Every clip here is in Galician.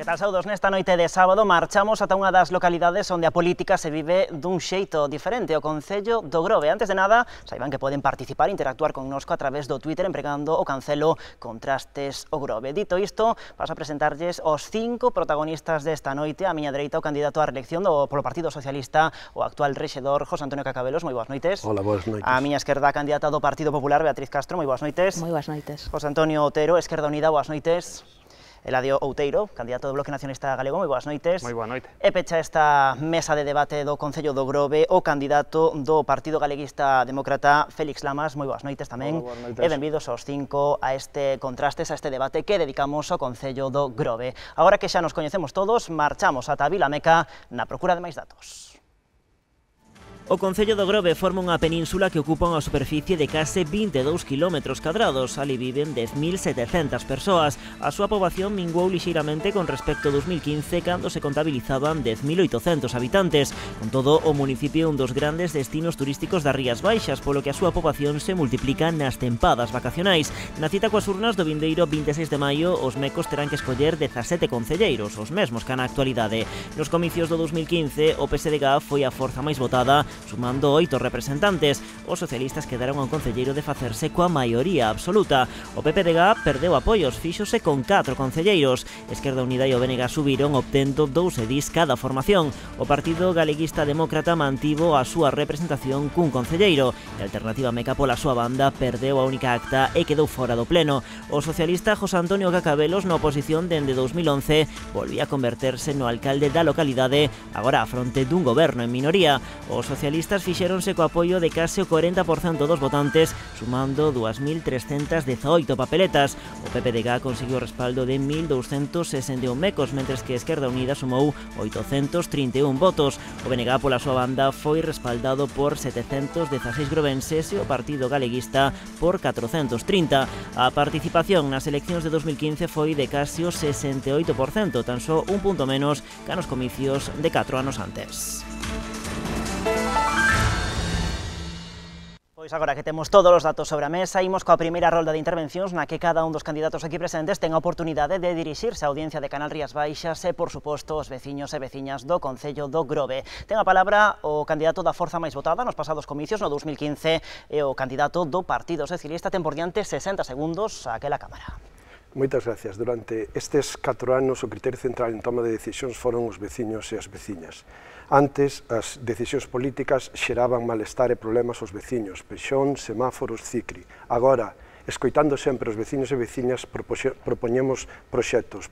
Que tal, saudos? Nesta noite de sábado marchamos ata unha das localidades onde a política se vive dun xeito diferente, o Concello do Grove. Antes de nada, saiban que poden participar e interactuar connosco a través do Twitter empregando o cancelo Contrastes o Grove. Dito isto, paso a presentarlles os 5 protagonistas desta noite. A miña dereita, o candidato á reelección polo Partido Socialista, o actual rexedor José Antonio Cacabelos. Moi boas noites. Hola, boas noites. A miña esquerda, a candidata do Partido Popular, Beatriz Castro. Moi boas noites. Moi boas noites. José Antonio Otero, Esquerda Unida. Boas noites. Eladio Outeiro, candidato do Bloque Nacionalista Galego, moi boas noites. Moi boa noite. E pecha esta mesa de debate do Concello do Grove o candidato do Partido Galeguista Demócrata, Félix Lamas. Moi boas noites tamén. Boas noites. E benvidos aos 5 a este contrastes, a este debate que dedicamos ao Concello do Grove. Agora que xa nos coñecemos todos, marchamos ata Vilameca na procura de máis datos. O Concello do Grove forma unha península que ocupa unha superficie de case 22 km². Ali viven 10.700 persoas. A súa poboación minguou lixeiramente con respecto a 2015, cando se contabilizaban 10.800 habitantes. Con todo, o municipio é un dos grandes destinos turísticos das Rías Baixas, polo que a súa poboación se multiplica nas tempadas vacacionais. Na cita coas urnas do vindeiro 26 de maio, os mecos terán que escoller 17 concelleiros, os mesmos que na actualidade. Nos comicios do 2015, o PSDG foi a forza máis votada, sumando 8 representantes. Os socialistas quedaron a un concelleiro de facerse coa maioría absoluta. O PPDG perdeu apoios, fíxose con 4 concelleiros. Esquerda Unida e o BNG subiron, obtendo 2 edís cada formación. O Partido Galeguista Demócrata mantivo a súa representación cun concelleiro. E a Alternativa Meca, pola súa banda, perdeu a única acta e quedou fora do pleno. O socialista José Antonio Cacabelos, na oposición dende 2011, volvía a converterse no alcalde da localidade, agora a fronte dun goberno en minoría. Os socialistas fixéronse co apoio de case o 40% dos votantes, sumando 2.318 papeletas. O PPDG conseguiu o respaldo de 1.261 mecos, mentres que Esquerda Unida sumou 831 votos. O BNG, pola súa banda, foi respaldado por 716 grovenses e o Partido Galeguista por 430. A participación nas eleccións de 2015 foi de case o 68%, tan só un punto menos que nos comicios de 4 anos antes. Pois agora que temos todos os datos sobre a mesa, imos coa primeira rolda de intervencións na que cada un dos candidatos aquí presentes ten a oportunidade de dirixirse á audiencia de Canal Rías Baixas e, por suposto, os veciños e veciñas do Concello do Grove. Ten a palabra o candidato da forza máis votada nos pasados comicios, no 2015, e o candidato do Partido Socialista. Ten por diante 60 segundos a aquela cámara. Moitas gracias. Durante estes 4 anos o criterio central en toma de decisións foron os veciños e as veciñas. Antes, as decisións políticas xeraban malestar e problemas aos veciños, pexón, semáforos, cicri. Agora, escoitando sempre os veciños e veciñas, propoñemos proxectos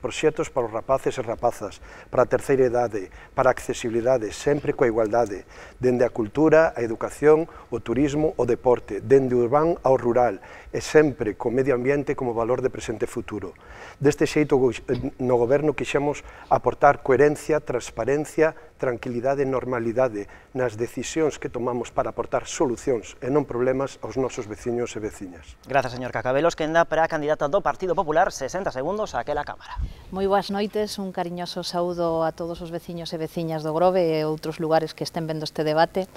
para os rapaces e rapazas, para a terceira idade, para a accesibilidade, sempre coa igualdade, dende a cultura, a educación, o turismo, o deporte, dende o urbán ao rural, e sempre co medio ambiente como valor de presente e futuro. Deste xeito, no goberno quixemos aportar coherencia, transparencia, tranquilidade e normalidade nas decisións que tomamos para aportar solucións e non problemas aos nosos veciños e veciñas. Grazas, señor Cacabelos. Quenda para a candidata do Partido Popular, 60 segundos a aquela cámara. Moi boas noites, un cariñoso saúdo a todos os veciños e veciñas do Grove e outros lugares que estén vendo este debate.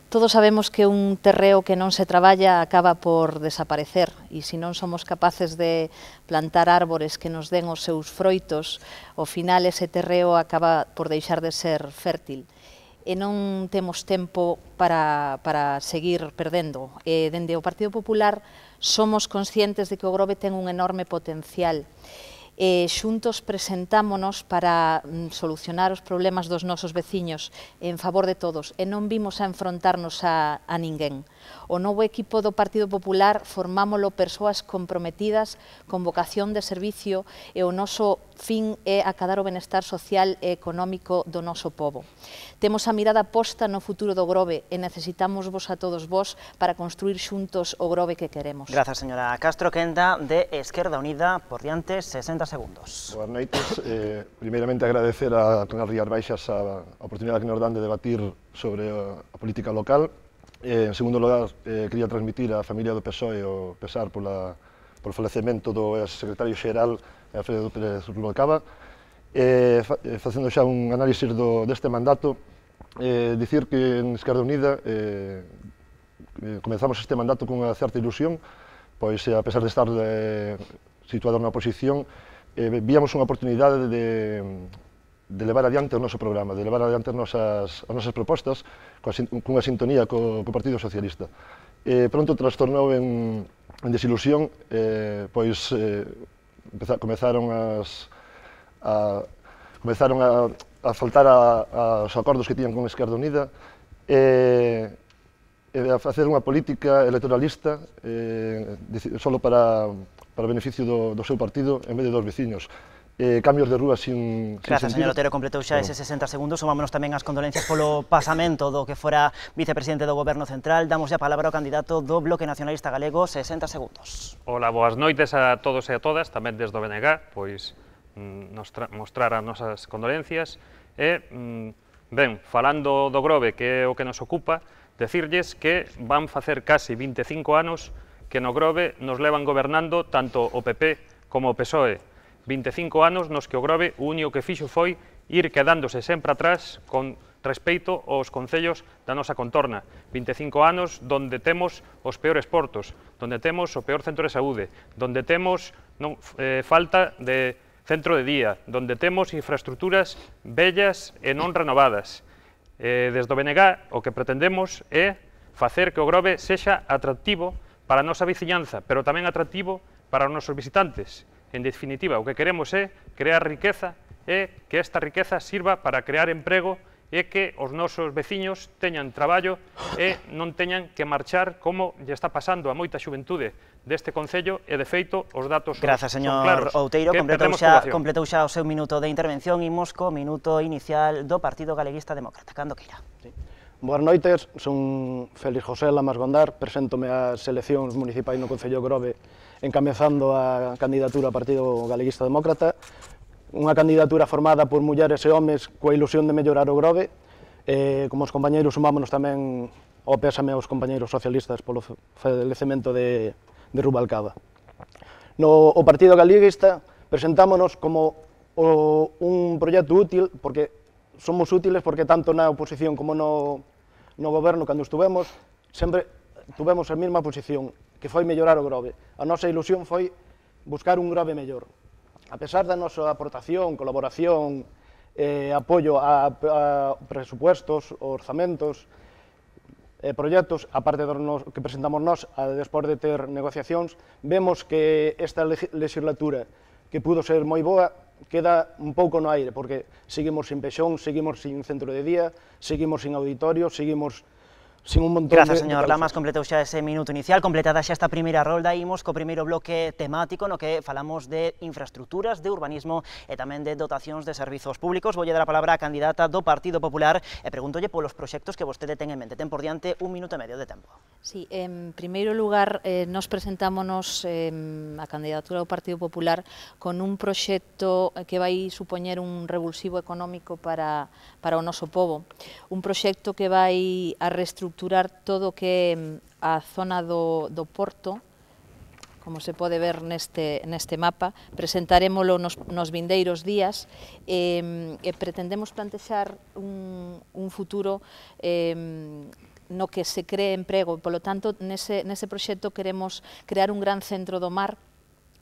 Todos sabemos que un terreo que non se traballa acaba por desaparecer e se non somos capaces de plantar árbores que nos den os seus froitos, ao final ese terreo acaba por deixar de ser fértil. E non temos tempo para seguir perdendo. E dende o Partido Popular somos conscientes de que o Grove ten un enorme potencial. E xuntos presentámonos para solucionar os problemas dos nosos veciños en favor de todos e non vimos a enfrontarnos a ninguén. O novo equipo do Partido Popular formámolo persoas comprometidas con vocación de servicio e o noso fin é acadar o benestar social e económico do noso pobo. Temos a mirada posta no futuro do Grove e necesitamos vos a todos vos para construir xuntos o Grove que queremos. Grazas, señora Castro. Quenda de Esquerda Unida, por diante, 60 segundos. Boas noites. Primeiramente agradecer a Canal Rías Baixas a oportunidade que nos dan de debatir sobre a política local. En segundo lugar, quería transmitir á familia do PSOE o pesar polo falecemento do secretario xeral Alfredo Pérez Rubalcaba. Facendo xa un análisis deste mandato, dicir que en Esquerda Unida comenzamos este mandato cunha certa ilusión, pois a pesar de estar situados na oposición, víamos unha oportunidade de levar adiante o noso programa, de levar adiante as nosas propostas cunha sintonía co Partido Socialista. Pronto trastornou en desilusión, pois comezaron a faltar aos acordos que tiñan con Esquerda Unida, a facer unha política electoralista solo para beneficio do seu partido en vez de dos veciños. Cambios de rúa sin Grazas, sentido. señor Otero, completou xa ese 60 segundos, sumámonos tamén as condolencias polo pasamento do que fora vicepresidente do Goberno Central. Damos a palabra ao candidato do Bloque Nacionalista Galego, 60 segundos. Ola, boas noites a todos e a todas, tamén desde o BNG, pois mostrar as nosas condolencias e, ben, falando do Grove, que é o que nos ocupa, decirlles que van facer casi 25 anos que no Grove nos levan gobernando tanto o PP como o PSOE. 25 anos nos que o Grove o único que fixo foi ir quedándose sempre atrás con respeito aos concellos da nosa contorna. 25 anos donde temos os peores portos, donde temos o peor centro de saúde, donde temos falta de centro de día, donde temos infraestructuras bellas e non renovadas. Desde o BNG o que pretendemos é facer que o Grove sexa atractivo para a nosa veciñanza, pero tamén atractivo para os nosos visitantes. En definitiva, o que queremos é crear riqueza e que esta riqueza sirva para crear emprego e que os nosos veciños teñan traballo e non teñan que marchar como lle está pasando a moita xuventude deste concello e, de feito, os datos son claros. Grazas, señor Outeiro, completou xa o seu minuto de intervención. Imos co minuto inicial do Partido Galeguista Demócrata. Cando queira. Boas noites, son Félix José Lamas Gondar, preséntome ás eleccións municipais no Concello de Grove encabezando a candidatura ao Partido Galeguista Demócrata, unha candidatura formada por mulleres e homes coa ilusión de mellorar o Grove. Como os compañeiros sumámonos tamén ao pésame aos compañeiros socialistas polo falecemento de Rubalcaba. O Partido Galeguista presentámonos como un proxecto útil, porque somos útiles porque tanto na oposición como no goberno, cando estuvemos, sempre tuvemos a mesma posición, que foi mellorar o Grove. A nosa ilusión foi buscar un Grove mellor. A pesar da nosa aportación, colaboración, apoio a presupuestos, orzamentos, proxectos, a parte dos que presentamos nós, despois de ter negociacións, vemos que esta legislatura, que pudo ser moi boa, queda un pouco no aire, porque seguimos sin pexón, seguimos sin centro de día, seguimos sin auditorio, seguimos sin un montón Grazas, señor Lamas, completou xa ese minuto inicial, completada xa esta primeira rolda, imos co primeiro bloque temático no que falamos de infraestructuras, de urbanismo e tamén de dotacións de servizos públicos. Voulle dar a palabra á candidata do Partido Popular e pregúntolle polos proxectos que vostede ten en mente. Ten por diante 1 minuto e medio de tempo. Sí, en primeiro lugar, nos presentámonos a candidatura do Partido Popular con un proxecto que vai supoñer un revulsivo económico para o noso pobo. Un proxecto que vai a reestructurar todo o que é a zona do Porto, como se pode ver neste mapa. Presentaremoslo nos vindeiros días e pretendemos plantexar un futuro no que se cree emprego. Polo tanto, nese proxecto queremos crear un gran centro do mar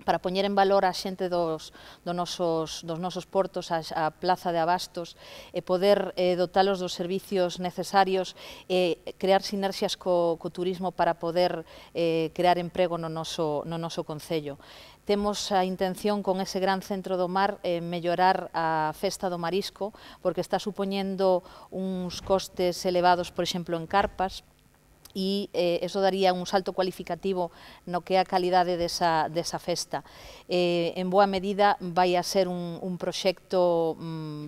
para poñer en valor a xente dos nosos portos, a plaza de abastos, e poder dotalos dos servicios necesarios e crear sinerxias co turismo para poder crear emprego no noso concello. Temos a intención con ese gran centro do mar mellorar a festa do marisco, porque está supoñendo uns costes elevados, por exemplo, en carpas, e eso daría un salto cualificativo no que é a calidade desa festa. En boa medida vai a ser un proxecto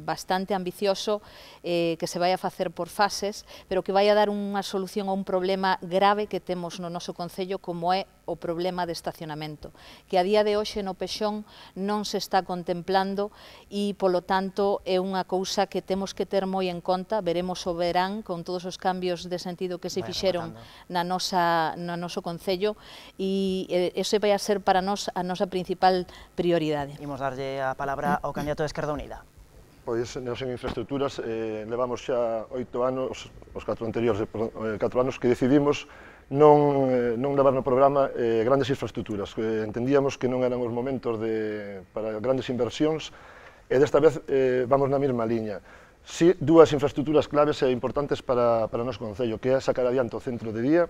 bastante ambicioso que se vai a facer por fases, pero que vai a dar unha solución a un problema grave que temos no noso concello, como é o problema de estacionamento, que a día de hoxe no Pexón non se está contemplando e, polo tanto, é unha cousa que temos que ter moi en conta. Veremos o verán con todos os cambios de sentido que se fixeron no noso concello e iso vai a ser para nós a nosa principal prioridade. Imos darlle a palabra ao candidato de Esquerda Unida. Pois, nos en infraestructuras, levamos xa 8 anos, os 4 anteriores, 4 anos que decidimos non levar no programa grandes infraestructuras. Entendíamos que non eran os momentos para grandes inversións e desta vez vamos na mesma liña. Si, dúas infraestructuras claves e importantes para o noso concello, que é sacar adiante o centro de día,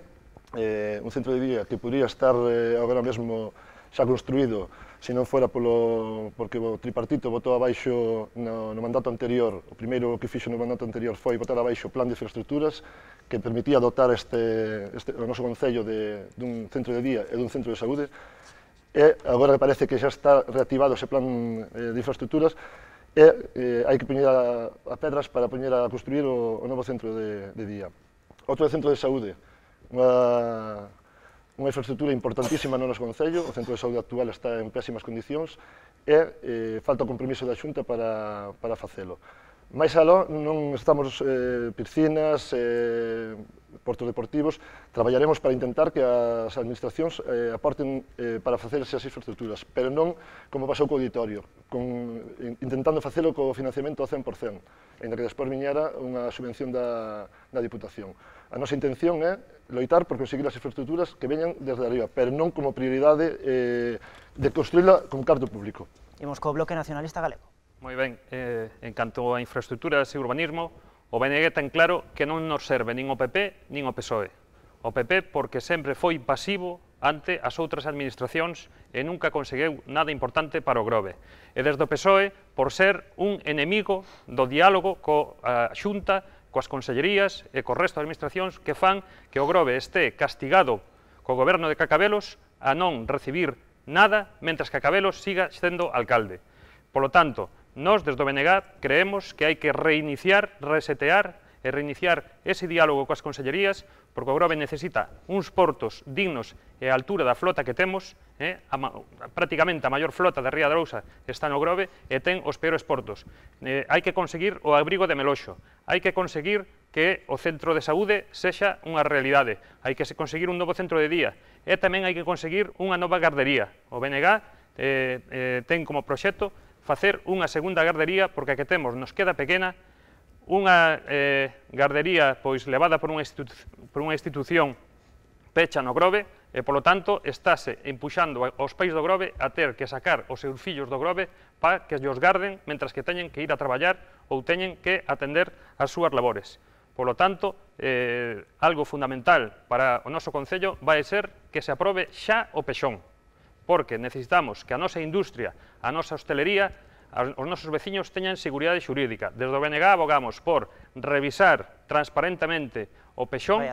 un centro de día que podría estar agora mesmo xa construído, se non fora porque o tripartito botou abaixo no mandato anterior. O primeiro que fixo no mandato anterior foi botar abaixo o plan de infraestructuras que permitía dotar o noso concello dun centro de día e dun centro de saúde, e agora parece que xa está reactivado ese plan de infraestructuras e hai que poñer a pedras para poñer a construir o novo centro de día. Outro centro de saúde, unha infraestructura importantísima no noso concello, o centro de saúde actual está en pésimas condicións e falta o compromiso da Xunta para facelo. Mais aló, non estamos piscinas, portos deportivos, traballaremos para intentar que as administracións aporten para facer esas infraestructuras, pero non como pasou co auditorio, intentando facelo co financiamento ao 100%, ainda que despois viñera unha subvención da Diputación. A nosa intención é loitar por conseguir as infraestructuras que veñan desde arriba, pero non como prioridade de construíla con carto público. Imos co Bloque Nacionalista Galego. Moi ben, en canto a infraestructuras e urbanismo, o BNG ten claro que non nos serve nin o PP nin o PSOE. O PP porque sempre foi pasivo ante as outras administracións e nunca conseguiu nada importante para o Grove. E desde o PSOE por ser un enemigo do diálogo coa Xunta, coas consellerías e co resto de administracións que fan que o Grove este castigado co goberno de Cacabelos a non recibir nada, mentras que Cacabelos siga sendo alcalde. Polo tanto, nós, desde o BNG, creemos que hai que reiniciar, resetear e reiniciar ese diálogo coas consellerías, porque o Grove necesita uns portos dignos e a altura da flota que temos, prácticamente a maior flota da Ría de Arousa está no Grove e ten os peores portos. Hai que conseguir o abrigo de Meloxo, hai que conseguir que o centro de saúde sexa unha realidade, hai que conseguir un novo centro de día e tamén hai que conseguir unha nova gardería. O BNG ten como proxecto facer unha segunda gardería, porque a que temos nos queda pequena, unha gardería pois levada por unha institución pecha no Grove, e polo tanto estáse empuxando aos pais do Grove a ter que sacar os seus fillos do Grove para que os garden, mentras que teñen que ir a traballar ou teñen que atender as súas labores. Polo tanto, algo fundamental para o noso concello vai ser que se aprobe xa o pexón, porque necesitamos que a nosa industria, a nosa hostelería, os nosos veciños teñan seguridade xurídica. Desde o BNG abogamos por revisar transparentemente o pexón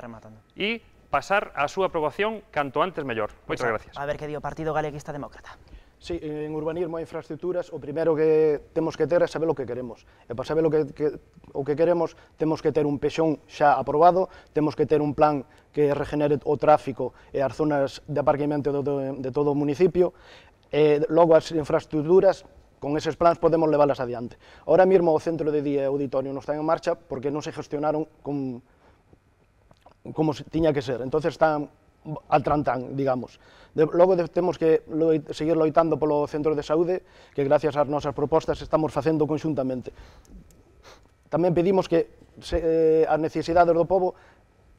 e pasar a súa aprobación canto antes mellor. Moitas gracias. A ver que di o Partido Galeguista Demócrata. Sí, en urbanismo e infraestructuras o primeiro que temos que ter é saber o que queremos. E para saber o que queremos temos que ter un pexón xa aprobado, temos que ter un plan que regenere o tráfico e as zonas de aparcamento de todo o municipio, e logo as infraestructuras, con eses plans podemos leválas adiante. Ahora mesmo o centro de día e o auditorio non están en marcha porque non se gestionaron como tiña que ser, entonces están al trantán, digamos. Logo temos que seguir loitando polo centro de saúde, que gracias ás nosas propostas estamos facendo conxuntamente. Tamén pedimos que as necesidades do povo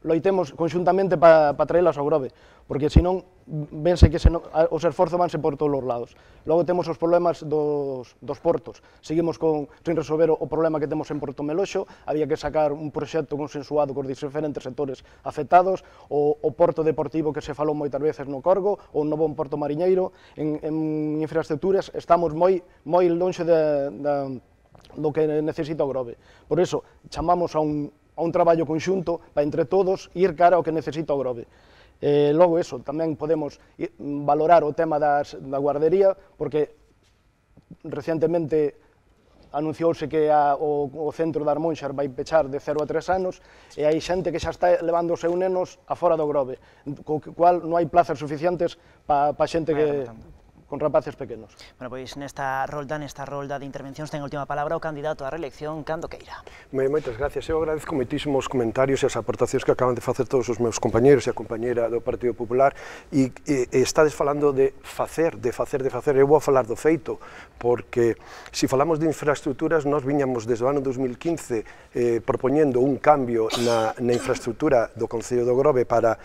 loitemos conxuntamente para traelas ao Grove, porque senón vense que os esforzos vanse por todos os lados. Logo temos os problemas dos portos. Seguimos sin resolver o problema que temos en Porto Meloxo, había que sacar un proxecto consensuado cos diferentes sectores afectados, o porto deportivo que se falou moitas veces no Corgo, ou un novo porto mariñeiro. En infraestructuras estamos moi lonxe do que necesita o Grove. Por iso, chamamos a un traballo conxunto para entre todos ir cara ao que necesita o Grove. Logo eso, tamén podemos valorar o tema da guardería, porque recientemente anunciouse que o centro de Armonxar vai pechar de 0 a 3 anos e hai xente que xa está levando os seus nenos a fora do Grove, co cual non hai plazas suficientes para xente rapaces pequenos. Bueno, pois nesta rolda de intervencións ten a última palabra o candidato á reelección, Cando Queira. Moitas gracias. Eu agradezco moitísimos comentarios e as aportacións que acaban de facer todos os meus compañeros e a compañeira do Partido Popular e estades falando de facer. Eu vou falar do feito, porque se falamos de infraestructuras, nós viñamos desde o ano 2015 propoñendo un cambio na infraestructura do Concello do Grove para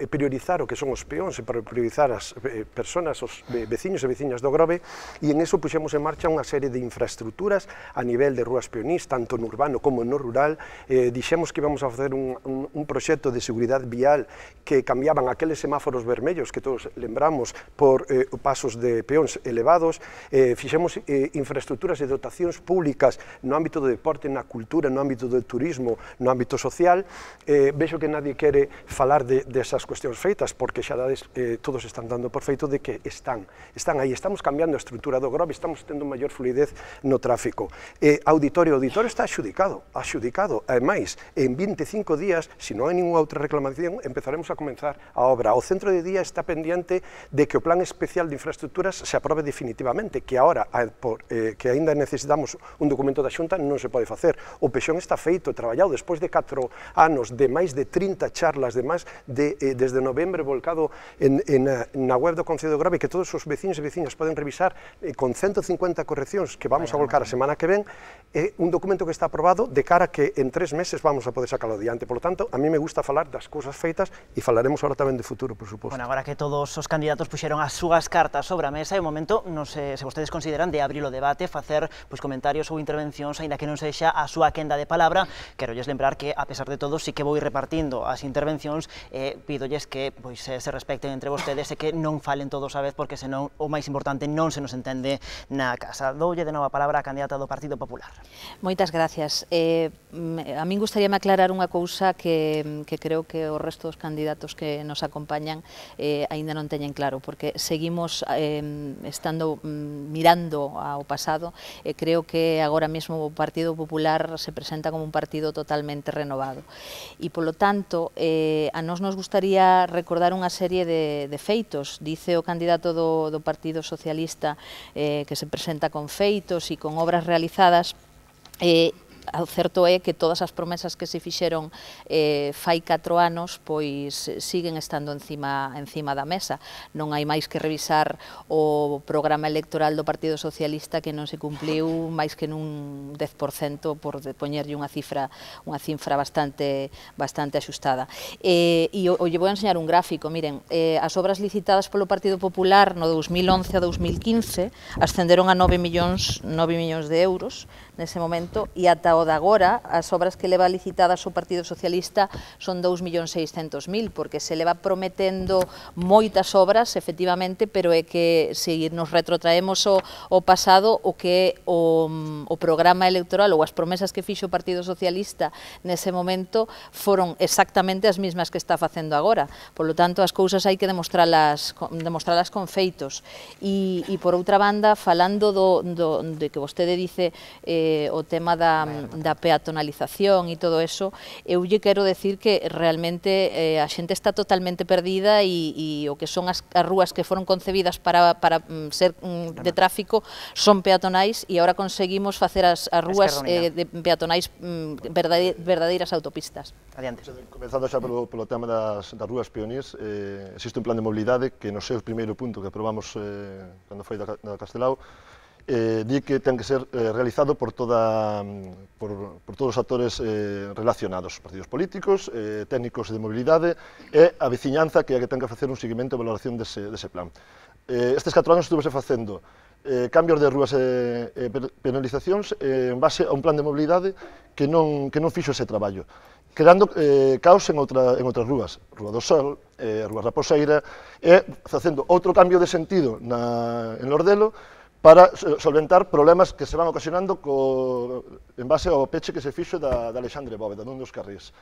priorizar o que son os peóns e para priorizar as personas, os veciños e veciñas do Grove, e en eso puxemos en marcha unha serie de infraestructuras a nivel de rúas peonís, tanto no urbano como no rural. Dixemos que íbamos a facer un proxecto de seguridade vial que cambiaban aqueles semáforos vermellos que todos lembramos por pasos de peóns elevados. Fixemos infraestructuras e dotacións públicas no ámbito do deporte, na cultura, no ámbito do turismo, no ámbito social. Vexo que nadie quere falar desas cuestións feitas, porque xa todos están dando por feito de que están aí. Estamos cambiando a estrutura do Grove, estamos tendo maior fluidez no tráfico. Auditorio está axudicado. Ademais, en 25 días, se non hai ninguna outra reclamación, empezaremos a comenzar a obra. O centro de día está pendiente de que o plan especial de infraestructuras se aprobe definitivamente, que agora, que aínda necesitamos un documento da Xunta, non se pode facer. O pexón está feito, traballado, despois de 4 anos, de máis de 30 charlas, desde novembro volcado na web do Concello do Grove, que todos os veciños e veciñas poden revisar con 150 correccións que vamos a volcar a semana que ven. É un documento que está aprobado de cara que en 3 meses vamos a poder sacarlo adiante. Por lo tanto, a mí me gusta falar das cousas feitas e falaremos ahora tamén de futuro, por suposto. Bueno, agora que todos os candidatos puxeron as súas cartas sobre a mesa, é o momento, non sei se vostedes consideran, de abrir o debate, facer comentarios ou intervencións, aínda que non sexa a súa quenda de palabra. Quero lles lembrar que, a pesar de todo, sí que vou ir repartindo as intervencións, pídolles que se respecten entre vostedes e que non falen todos a vez, porque senón o máis importante non se nos entende na casa. Doulle de novo a palabra a candidata do Partido Popular. Moitas gracias. A min gustaríame aclarar unha cousa que creo que o resto dos candidatos que nos acompañan aínda non teñen claro, porque seguimos estando mirando ao pasado e creo que agora mesmo o Partido Popular se presenta como un partido totalmente renovado. E, polo tanto, a nós nos gustaría recordar unha serie de feitos. Dice o candidato do Partido Socialista que se presenta con feitos e con obras realizadas. O certo é que todas as promesas que se fixeron fai 4 anos pois siguen estando encima da mesa. Non hai máis que revisar o programa electoral do Partido Socialista, que non se cumpliu máis que nun 10%, por poñerlle unha cifra bastante axustada. E lle vou enseñar un gráfico. Miren, as obras licitadas polo Partido Popular no 2011 a 2015 ascenderon a 9 millóns de euros nese momento, e ata o de agora as obras que leva licitadas o Partido Socialista son 2.600.000, porque se leva prometendo moitas obras, efectivamente, pero é que se nos retrotraemos ao pasado, o que o programa electoral ou as promesas que fixo o Partido Socialista nese momento foron exactamente as mesmas que está facendo agora. Por lo tanto, as cousas hai que demostralas con feitos. E por outra banda, falando de que vostede dice o tema da peatonalización e todo eso, eu lle quero decir que realmente a xente está totalmente perdida e o que son as rúas que foron concebidas para ser de tráfico son peatonais, e agora conseguimos facer as rúas peatonais verdadeiras autopistas. Adiante. Comenzando xa polo tema das rúas peonís, existe un plan de mobilidade que no seu primeiro punto que aprobamos cando foi da Castelao, di que ten que ser realizado por todos os actores relacionados, partidos políticos, técnicos de mobilidade e a veciñanza, que é a que ten que facer un seguimento e valoración dese plan. Estes 4 anos estuvese facendo cambios de rúas e penalizacións en base a un plan de mobilidade que non fixo ese traballo, creando caos en outras rúas, Rúa do Sol, Rúa Raposeira, e facendo outro cambio de sentido en Lordelo, para solventar problemas que se van ocasionando en base ao peche que se fixo da Alexandre Bóveda, dun dos carrís.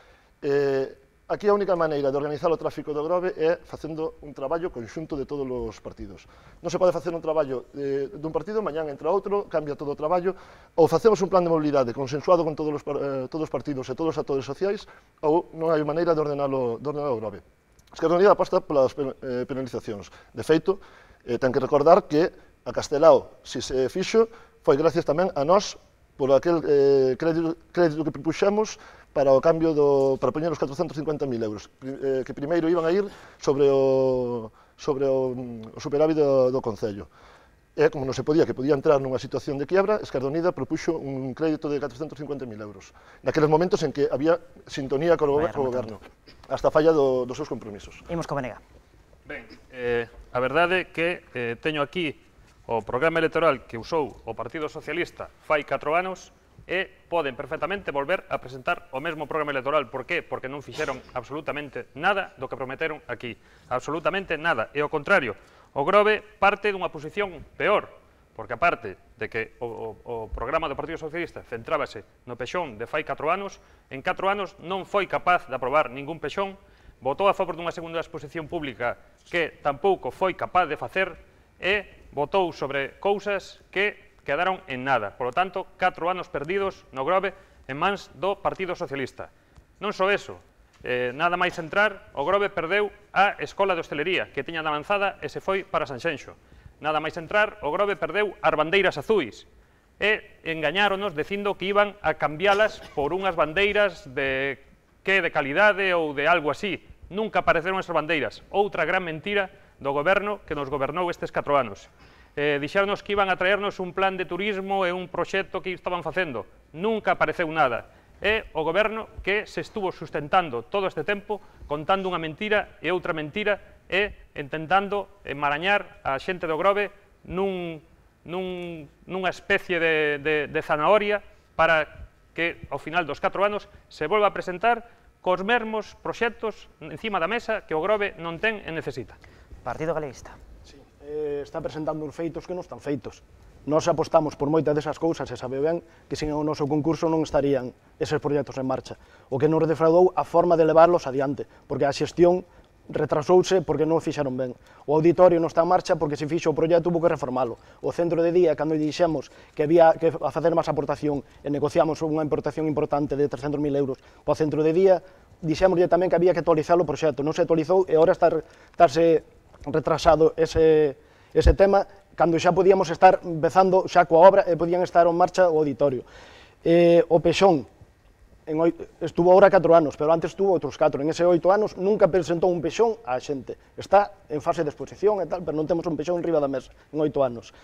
Aquí a única maneira de organizar o tráfico do Grove é facendo un traballo conxunto de todos os partidos. Non se pode facer un traballo dun partido, mañán entra outro, cambia todo o traballo, ou facemos un plan de mobilidade consensuado con todos os partidos e todos os actores sociais, ou non hai maneira de ordenar o Grove. Esquerda Unida aposta polas penalizacións. De feito, Ten que recordar que a Castelao, se se fixo, foi gracias tamén a nós por aquel crédito que propuxemos para o cambio para poñer os 450.000 euros, que primeiro iban a ir sobre o superávit do Concello. E, como non se podía, que podía entrar nunha situación de quiebra, Esquerda Unida propuxo un crédito de 450.000 euros, naqueles momentos en que había sintonía co goberno, hasta a falla dos seus compromisos. Imos co BNG. Ben, a verdade é que teño aquí o programa electoral que usou o Partido Socialista fai 4 anos e poden perfectamente volver a presentar o mesmo programa electoral. Por qué? Porque non fixeron absolutamente nada do que prometeron aquí. Absolutamente nada. E ao contrario, o Grove parte dunha posición peor, porque aparte de que o programa do Partido Socialista centrábase no pexón de fai 4 anos, en 4 anos non foi capaz de aprobar ningún pexón, votou a favor dunha segunda exposición pública que tampouco foi capaz de facer e votou sobre cousas que quedaron en nada. Por lo tanto, 4 anos perdidos no Grove en mans do Partido Socialista. Non só eso, nada máis entrar, o Grove perdeu a Escola de Hostelería, que tiña de avanzada e se foi para Sanxenxo. Nada máis entrar, o Grove perdeu as bandeiras azuis e engañáronos dicindo que iban a cambialas por unhas bandeiras de calidade ou de algo así. Nunca apareceron esas bandeiras. Outra gran mentira do goberno que nos gobernou estes 4 anos. Dixeronos que iban a traernos un plan de turismo e un proxecto que estaban facendo. Nunca apareceu nada. É o goberno que se estuvo sustentando todo este tempo contando unha mentira e outra mentira e intentando enmarañar a xente do Grove nunha especie de zanahoria para que ao final dos 4 anos se volva a presentar cos mesmos proxectos encima da mesa que o Grove non ten e necesita. Partido Galeguista. Sí, está presentando uns feitos que non están feitos. Nós apostamos por moitas desas cousas e sabe ben que sen o noso concurso non estarían eses proxectos en marcha. O que nos defraudou a forma de levarlos adiante, porque a xestión retrasouse porque non o fixeron ben. O auditorio non está en marcha porque se fixo o proxecto hubo que reformalo. O centro de día, cando dixemos que había que facer máis aportación e negociamos unha importación importante de 300.000 euros para o centro de día, dixémoslle tamén que había que actualizar o proxecto. Non se actualizou e agora estarse retrasado ese tema cando xa podíamos estar empezando xa coa obra e podían estar en marcha o auditorio. O pexón estuvo agora 4 anos, pero antes estuvo outros 4. En ese 8 anos nunca presentou un pexón á xente. Está en fase de exposición e tal, pero non temos un pexón riba da mesa en 8 anos.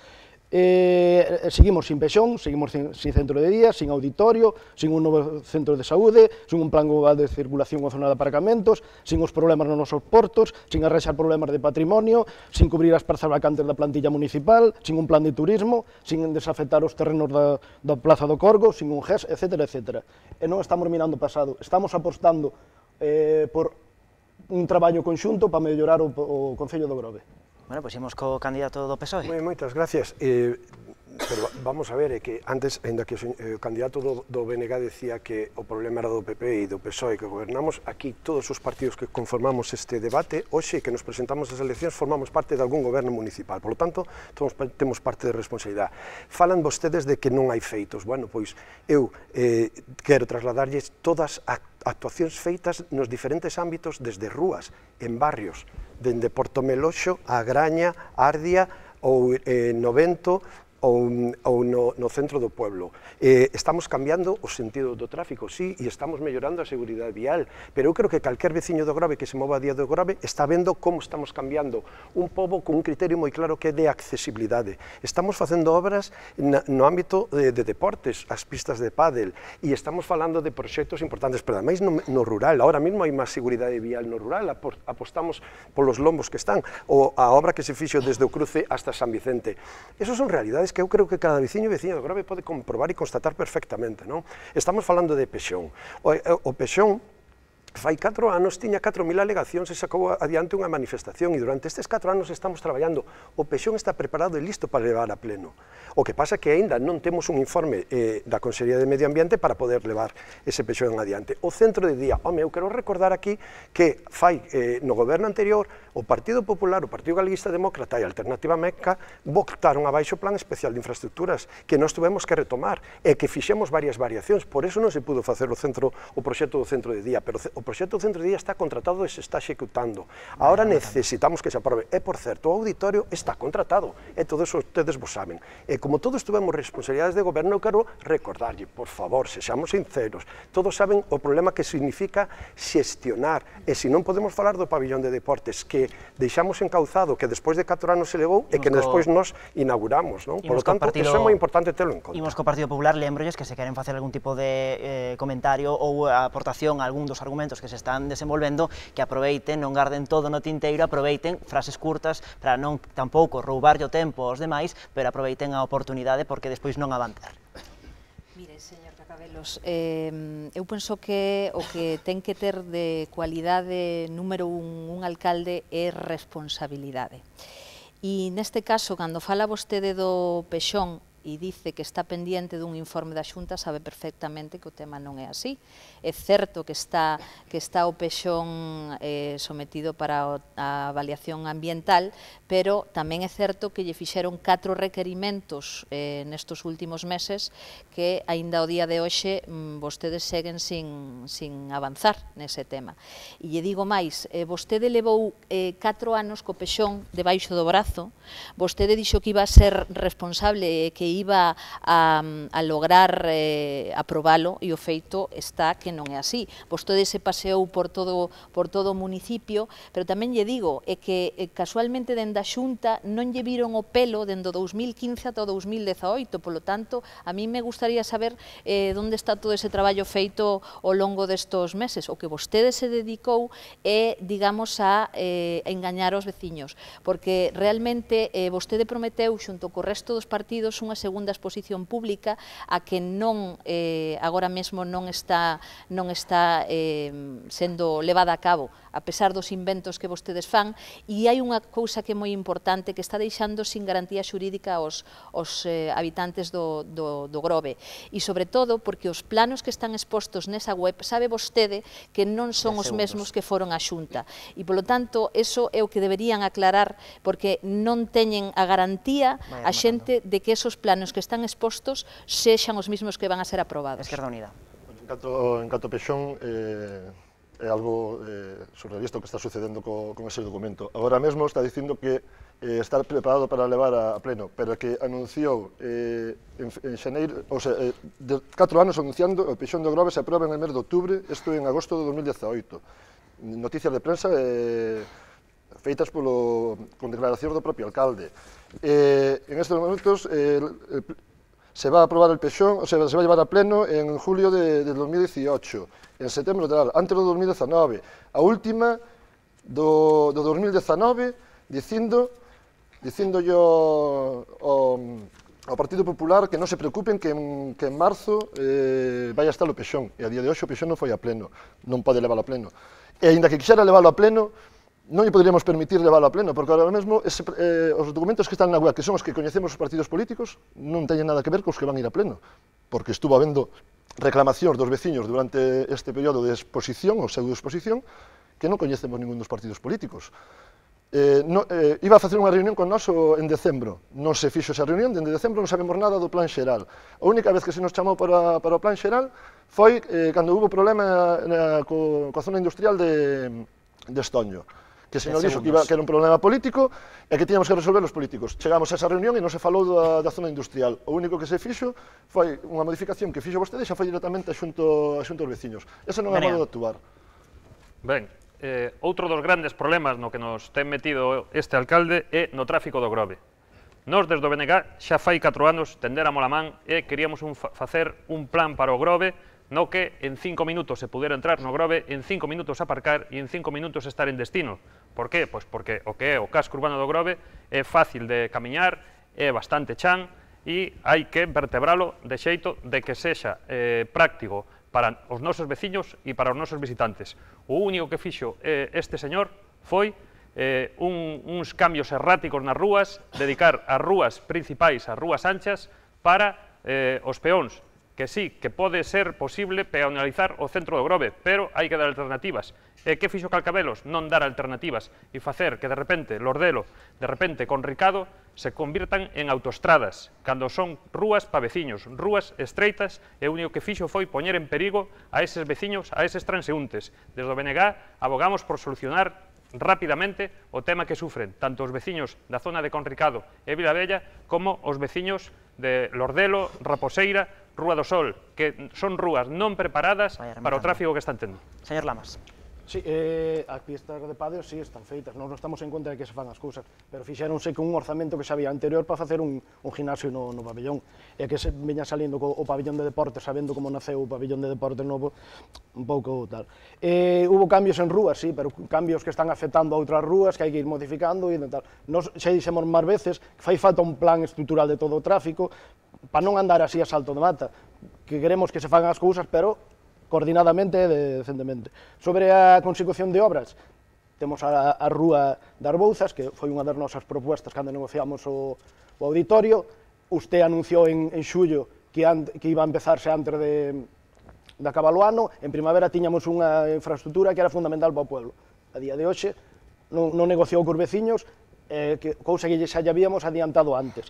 Seguimos sin pexón, seguimos sin centro de día, sin auditorio, sin un novo centro de saúde, sin un plan global de circulación ou zona de aparcamentos, sin os problemas nos nosos portos, sin arrexar problemas de patrimonio, sin cubrir as prazas vacantes da plantilla municipal, sin un plan de turismo, sin desafectar os terrenos da Plaza do Corgo, sin un GES, etc. E non estamos mirando o pasado, estamos apostando por un traballo conxunto para mellorar o Concello do Grove. Bueno, pois imos co candidato do PSOE. Moitas gracias. Pero vamos a ver, é que antes, ainda que o candidato do BNG decía que o problema era do PP e do PSOE que gobernamos, aquí todos os partidos que conformamos este debate, hoxe que nos presentamos as eleccións, formamos parte de algún goberno municipal, por lo tanto, todos temos parte de responsabilidade. Falan vostedes de que non hai feitos. Bueno, pois eu quero trasladarlles todas as actuacións feitas nos diferentes ámbitos, desde rúas, en barrios, dende Portomeloxo a Graña, Ardia ou Novento ou no centro do pueblo. Estamos cambiando o sentido do tráfico, sí, e estamos mellorando a seguridade vial, pero eu creo que calquer veciño do Grove que se mova a día do Grove está vendo como estamos cambiando un pobo con un criterio moi claro que é de accesibilidade. Estamos facendo obras no ámbito de deportes, as pistas de pádel, e estamos falando de proxectos importantes, pero ademais no rural. Ahora mesmo hai máis seguridade vial no rural, apostamos polos lombos que están, ou a obra que se fixo desde o cruce hasta San Vicente. Esos son realidades que eu creo que cada veciño e veciña do Grove pode comprobar e constatar perfectamente, non? Estamos falando de pexón. O pexón fai 4 anos tiña 4.000 alegacións e sacou adiante unha manifestación, e durante estes 4 anos estamos traballando. O pexón está preparado e listo para levar a pleno. O que pasa é que aínda non temos un informe da Consellería de Medio Ambiente para poder levar ese peixón adiante. O centro de día, home, eu quero recordar aquí que fai no goberno anterior o Partido Popular, o Partido Galeguista Demócrata e a Alternativa Meca botaron abaixo o Plan Especial de Infraestructuras que nós tuvemos que retomar e que fixemos varias variacións, por eso non se pudo facer o proxecto do centro de día, pero o proxecto do centro de día está contratado e se está executando. Ahora necesitamos que se aprobe. E, por certo, o auditorio está contratado, e todos ustedes vos saben. E como todos tuvemos responsabilidades de goberno, eu quero recordarlle, por favor, sexamos sinceros, todos saben o problema que significa xestionar, e se non podemos falar do pabillón de deportes, que deixamos encauzado, que despois de 4 anos se levou, e que despois nos inauguramos, non? Por lo tanto, eso é moi importante terlo en conta. Imos co Partido Popular, lembrolles que se queren facer algún tipo de comentario ou aportación a algún dos argumentos que se están desenvolvendo, que aproveiten, non garden todo no tinteiro, aproveiten frases curtas para non tampouco roubarlle o tempo aos demais, pero aproveiten a oportunidade porque despois non a van ter. Mire, señor Cacabelos, eu penso que o que ten que ter de cualidade número un alcalde é responsabilidade. E neste caso, cando fala vostede do peixón e dice que está pendiente dun informe da Xunta, sabe perfectamente que o tema non é así. É certo que está o peixón sometido para a avaliación ambiental, pero tamén é certo que lle fixeron 4 requerimentos nestos últimos meses que, aínda o día de hoxe, vostedes seguen sin avanzar nese tema. E lle digo máis, vostede levou 4 anos co peixón debaixo do brazo, vostede dixo que iba a ser responsable e que iba a lograr aprobalo, e o feito está que non é así. Vostede se paseou por todo o municipio, pero tamén lle digo é que casualmente dende a Xunta non lle viron o pelo dende o 2015 ata o 2018, polo tanto, a mí me gustaría saber onde está todo ese traballo feito ao longo destos meses. O que vostede se dedicou é, digamos, a engañar aos veciños, porque realmente vostede prometeu, xunto co resto dos partidos, unha segunda exposición pública a que non agora mesmo non está sendo levada a cabo, a pesar dos inventos que vostedes fan, e hai unha cousa que é moi importante, que está deixando sin garantía xurídica aos habitantes do Grove, e sobre todo porque os planos que están expostos nesa web, sabe vostede que non son os mesmos que foron a Xunta, e polo tanto, eso é o que deberían aclarar, porque non teñen a garantía a xente de que esos planos que están expostos sexan os mesmos que van a ser aprobados. Esquerda Unida. En canto a peixón, é algo surrealista o que está sucedendo con ese documento. Agora mesmo está dicindo que está preparado para levar a pleno, pero que anunciou en xaneiro, ou sea, de 4 anos anunciando o peixón do Grove se aproba en el mes de outubro, isto en agosto de 2018. Noticias de prensa feitas con declaracións do propio alcalde. En estes momentos se va a aprobar el peixón, o sea, se va a llevar a pleno en julio de 2018, en setembro antes do 2019, a última do 2019, dicindo ao Partido Popular que non se preocupen que en marzo vai a estar o peixón, e a día de hoxe o peixón non foi a pleno, non pode leválo a pleno. E aínda que quixera leválo a pleno, non lle poderíamos permitir leválo a pleno, porque ahora mesmo os documentos que están na web, que son os que coñecemos os partidos políticos, non teñen nada que ver cos que van ir a pleno, porque estuvo habendo reclamacións dos veciños durante este período de exposición, ou pseudoexposición, que non coñecemos ningún dos partidos políticos. Iba a facer unha reunión con nós en decembro, non se fixo esa reunión, dende decembro non sabemos nada do plan xeral. A única vez que se nos chamou para o plan xeral foi cando hubo problema coa zona industrial de Estoño, que o señor dixo que era un problema político e que tiñamos que resolver os políticos. Chegamos a esa reunión e non se falou da zona industrial. O único que se fixo foi unha modificación que fixo vostede e xa foi directamente xunto aos veciños. Ese non é modo de actuar. Ben, outro dos grandes problemas no que nos ten metido este alcalde é no tráfico do Grove. Nós, desde o BNG, xa fai 4 anos tendéramos a man e queríamos facer un plan para o Grove no que en 5 minutos se pudera entrar no Grove, en 5 minutos aparcar e en 5 minutos estar en destino. Por qué? Pois porque o que é o casco urbano do Grove é fácil de camiñar, é bastante chan e hai que vertebralo de xeito de que sexa práctico para os nosos veciños e para os nosos visitantes. O único que fixo este señor foi uns cambios erráticos nas rúas, dedicar as rúas principais, as rúas anchas, para os peóns, que sí, que pode ser posible peonalizar o centro do Grove, pero hai que dar alternativas. E que fixo Calcabelos? Non dar alternativas e facer que de repente Lordelo, de repente Conricado, se convirtan en autoestradas, cando son rúas pa veciños, rúas estreitas, e o único que fixo foi poñer en perigo a eses veciños, a eses transeúntes. Desde o BNG abogamos por solucionar rapidamente o tema que sufren tanto os veciños da zona de Conricado e Vilavella como os veciños de Lordelo, Raposeira, Rúa do Sol, que son rúas non preparadas para o tráfico que están tendo. Señor Lamas. Sí, as pistas de pádel sí están feitas, non estamos en contra de que se fan as cousas, pero fixéronse con un orzamento que xa había anterior para facer un gimnasio no pabellón, e que se veña salindo co pabellón de deportes, sabendo como naceu o pabellón de deportes novo, un pouco tal. Hubo cambios en rúas, sí, pero cambios que están afectando a outras rúas, que hai que ir modificando e tal. Nos xa dixemos máis veces que fai falta un plan estrutural de todo o tráfico, para non andar así a salto de mata, que queremos que se fagan as cousas, pero coordinadamente e decentemente. Sobre a consecución de obras, temos a Rúa das Bouzas, que foi unha das nosas propuestas cando negociamos o auditorio. Usted anunciou en xullo que iba a empezarse antes de acabar o ano. En primavera tiñamos unha infraestructura que era fundamental para o pueblo. A día de hoxe non negociou cos veciños, cousa que xa lle habíamos adiantado antes.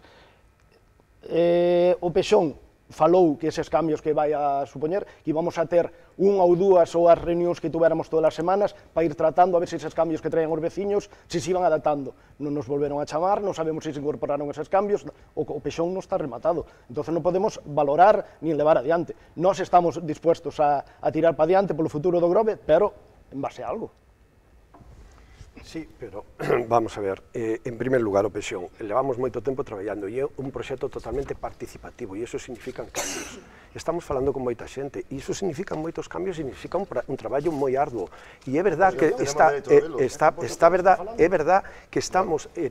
O Pexón falou que eses cambios que vai a supoñer, que íbamos a ter unha ou dúas ou as reunións que tuéramos todas as semanas para ir tratando a ver se eses cambios que traían os veciños se iban adaptando. Non nos volveron a chamar, non sabemos se incorporaron eses cambios, o Pexón non está rematado, entón non podemos valorar nin levar adiante. Nós estamos dispuestos a tirar para adiante polo futuro do Grove, pero en base a algo. Sí, pero vamos a ver, en primer lugar o Pexón, levamos moito tempo traballando e é un proxecto totalmente participativo e iso significan cambios. Estamos falando con moita xente e iso significa moitos cambios, significa un traballo moi arduo e é verdad que é verdad que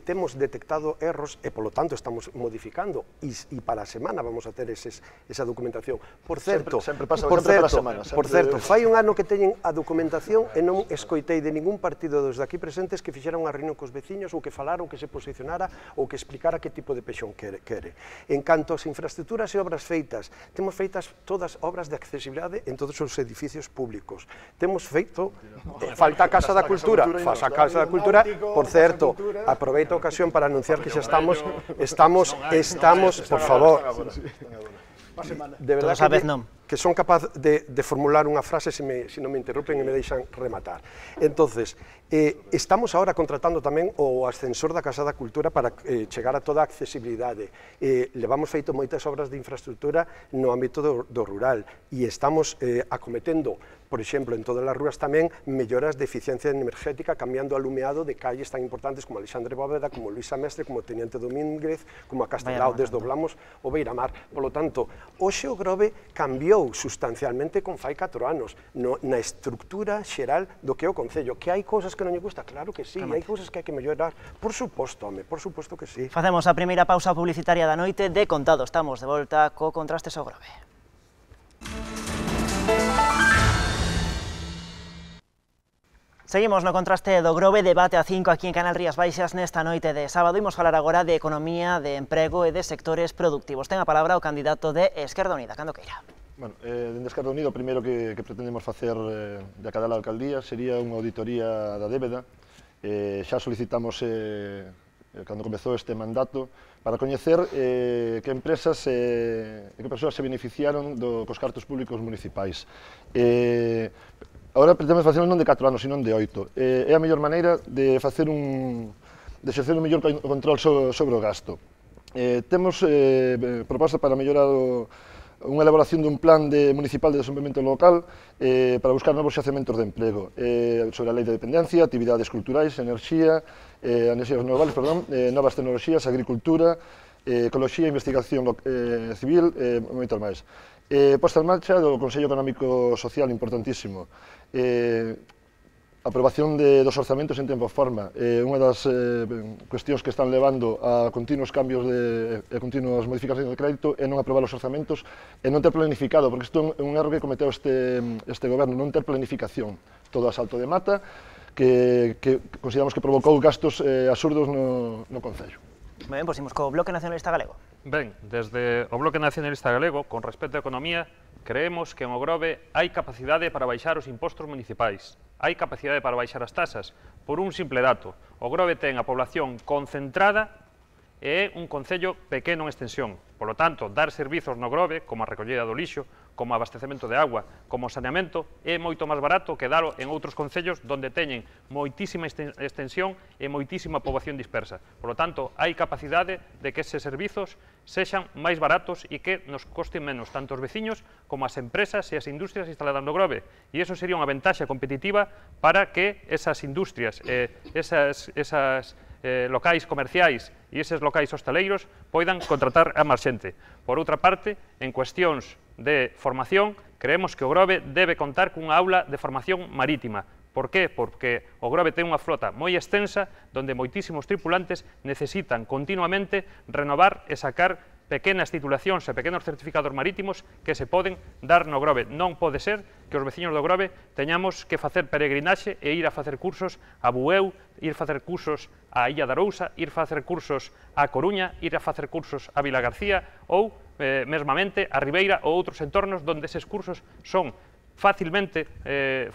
temos detectado erros e polo tanto estamos modificando e para a semana vamos a ter esa documentación. Por certo, fai un ano que teñen a documentación e non escoitei de ningún partido dos daqui presentes que fixeran unha reunión cos veciños ou que falara ou que se posicionara ou que explicara que tipo de Pexón quere. En canto ás infraestructuras e obras feitas, temos feitas todas obras de accesibilidade en todos os edificios públicos. Temos feito, falta a Casa da Cultura, por certo, aproveito a ocasión para anunciar que xa estamos, por favor, de verdad que son capaz de formular unha frase se non me interrumpen e me deixan rematar. Entonces, estamos ahora contratando tamén o ascensor da Casa da Cultura para chegar a toda a accesibilidade. Levamos feito moitas obras de infraestructura no ámbito do rural e estamos acometendo, por exemplo, en todas as rúas tamén, melloras de eficiencia energética, cambiando alumeado de calles tan importantes como Alexandre Bóveda, como Luisa Mestre, como Teniente Domínguez, como a Castelao, desdoblamos o Beiramar. Polo tanto, hoxe o Grove cambiou sustancialmente con fai 4 anos na estructura xeral do que é o Concello. Que hai cousas que non lle gusta? Claro que sí, hai cousas que hai que mellorar. Por suposto, home, por suposto que sí. Facemos a primeira pausa publicitaria da noite de contado. Estamos de volta co Contrastes ao Grove. Seguimos no Contraste do Grove, debate a 5 aquí en Canal Rías Baixas nesta noite de sábado. Imos falar agora de economía, de emprego e de sectores productivos. Ten a palabra o candidato de Esquerda Unida, cando queira. Bueno, dende Esquerda Unida o primeiro que pretendemos facer de cada alcaldía sería unha auditoría da débeda. Xa solicitamos cando comezou este mandato para coñecer que empresas e que persoas se beneficiaron cos cartos públicos municipais. Agora pretendemos facer non de 4 anos, sino de 8. É a mellor maneira de facer de exercer un mellor control sobre o gasto. Temos propostas para mellorar unha elaboración dun plan municipal de desenvolvemento local para buscar novos xacementos de emprego, sobre a lei de dependencia, actividades culturais, enerxías renovables, novas tecnoloxías, agricultura, ecoloxía, investigación civil e moitos máis. Posta en marcha do Consello Económico Social, importantísimo. Aprobación dos orzamentos en tempo e forma. Unha das cuestións que están levando a continuos cambios e continuas modificacións de crédito é non aprobar os orzamentos e non ter planificado, porque isto é un erro que cometeu este goberno, non ter planificación. Todo a salto de mata, que consideramos que provocou gastos absurdos no Concello. Ben, pois imos co Bloque Nacionalista Galego. Ben, desde o Bloque Nacionalista Galego, con respecto á economía, creemos que en Ogrove hai capacidade para baixar os impostos municipais, hai capacidade para baixar as tasas, por un simple dato. Ogrove ten a población concentrada e é un concello pequeno en extensión. Por lo tanto, dar servizos no Grove, como a recollida do lixo, como abastecemento de agua, como saneamento, é moito máis barato que dalo en outros concellos onde teñen moitísima extensión e moitísima poboación dispersa. Por lo tanto, hai capacidade de que eses servizos sexan máis baratos e que nos costen menos tanto os veciños como as empresas e as industrias instaladas no Grove. E iso sería unha ventaxa competitiva para que esas industrias, esas locais comerciais e eses locais hostaleiros poidan contratar a máis xente. Por outra parte, en cuestións de formación, creemos que o Grove debe contar cunha aula de formación marítima. Por qué? Porque o Grove ten unha flota moi extensa onde moitísimos tripulantes necesitan continuamente renovar e sacar pequenas titulacións e pequenos certificados marítimos que se poden dar no Grove. Non pode ser que os veciños do Grove teñamos que facer peregrinaxe e ir a facer cursos a Bueu, ir a facer cursos a Illa de Arousa, ir a facer cursos a Coruña, ir a facer cursos a Vilagarcía ou, mesmamente, a Ribeira ou outros entornos onde eses cursos son facilmente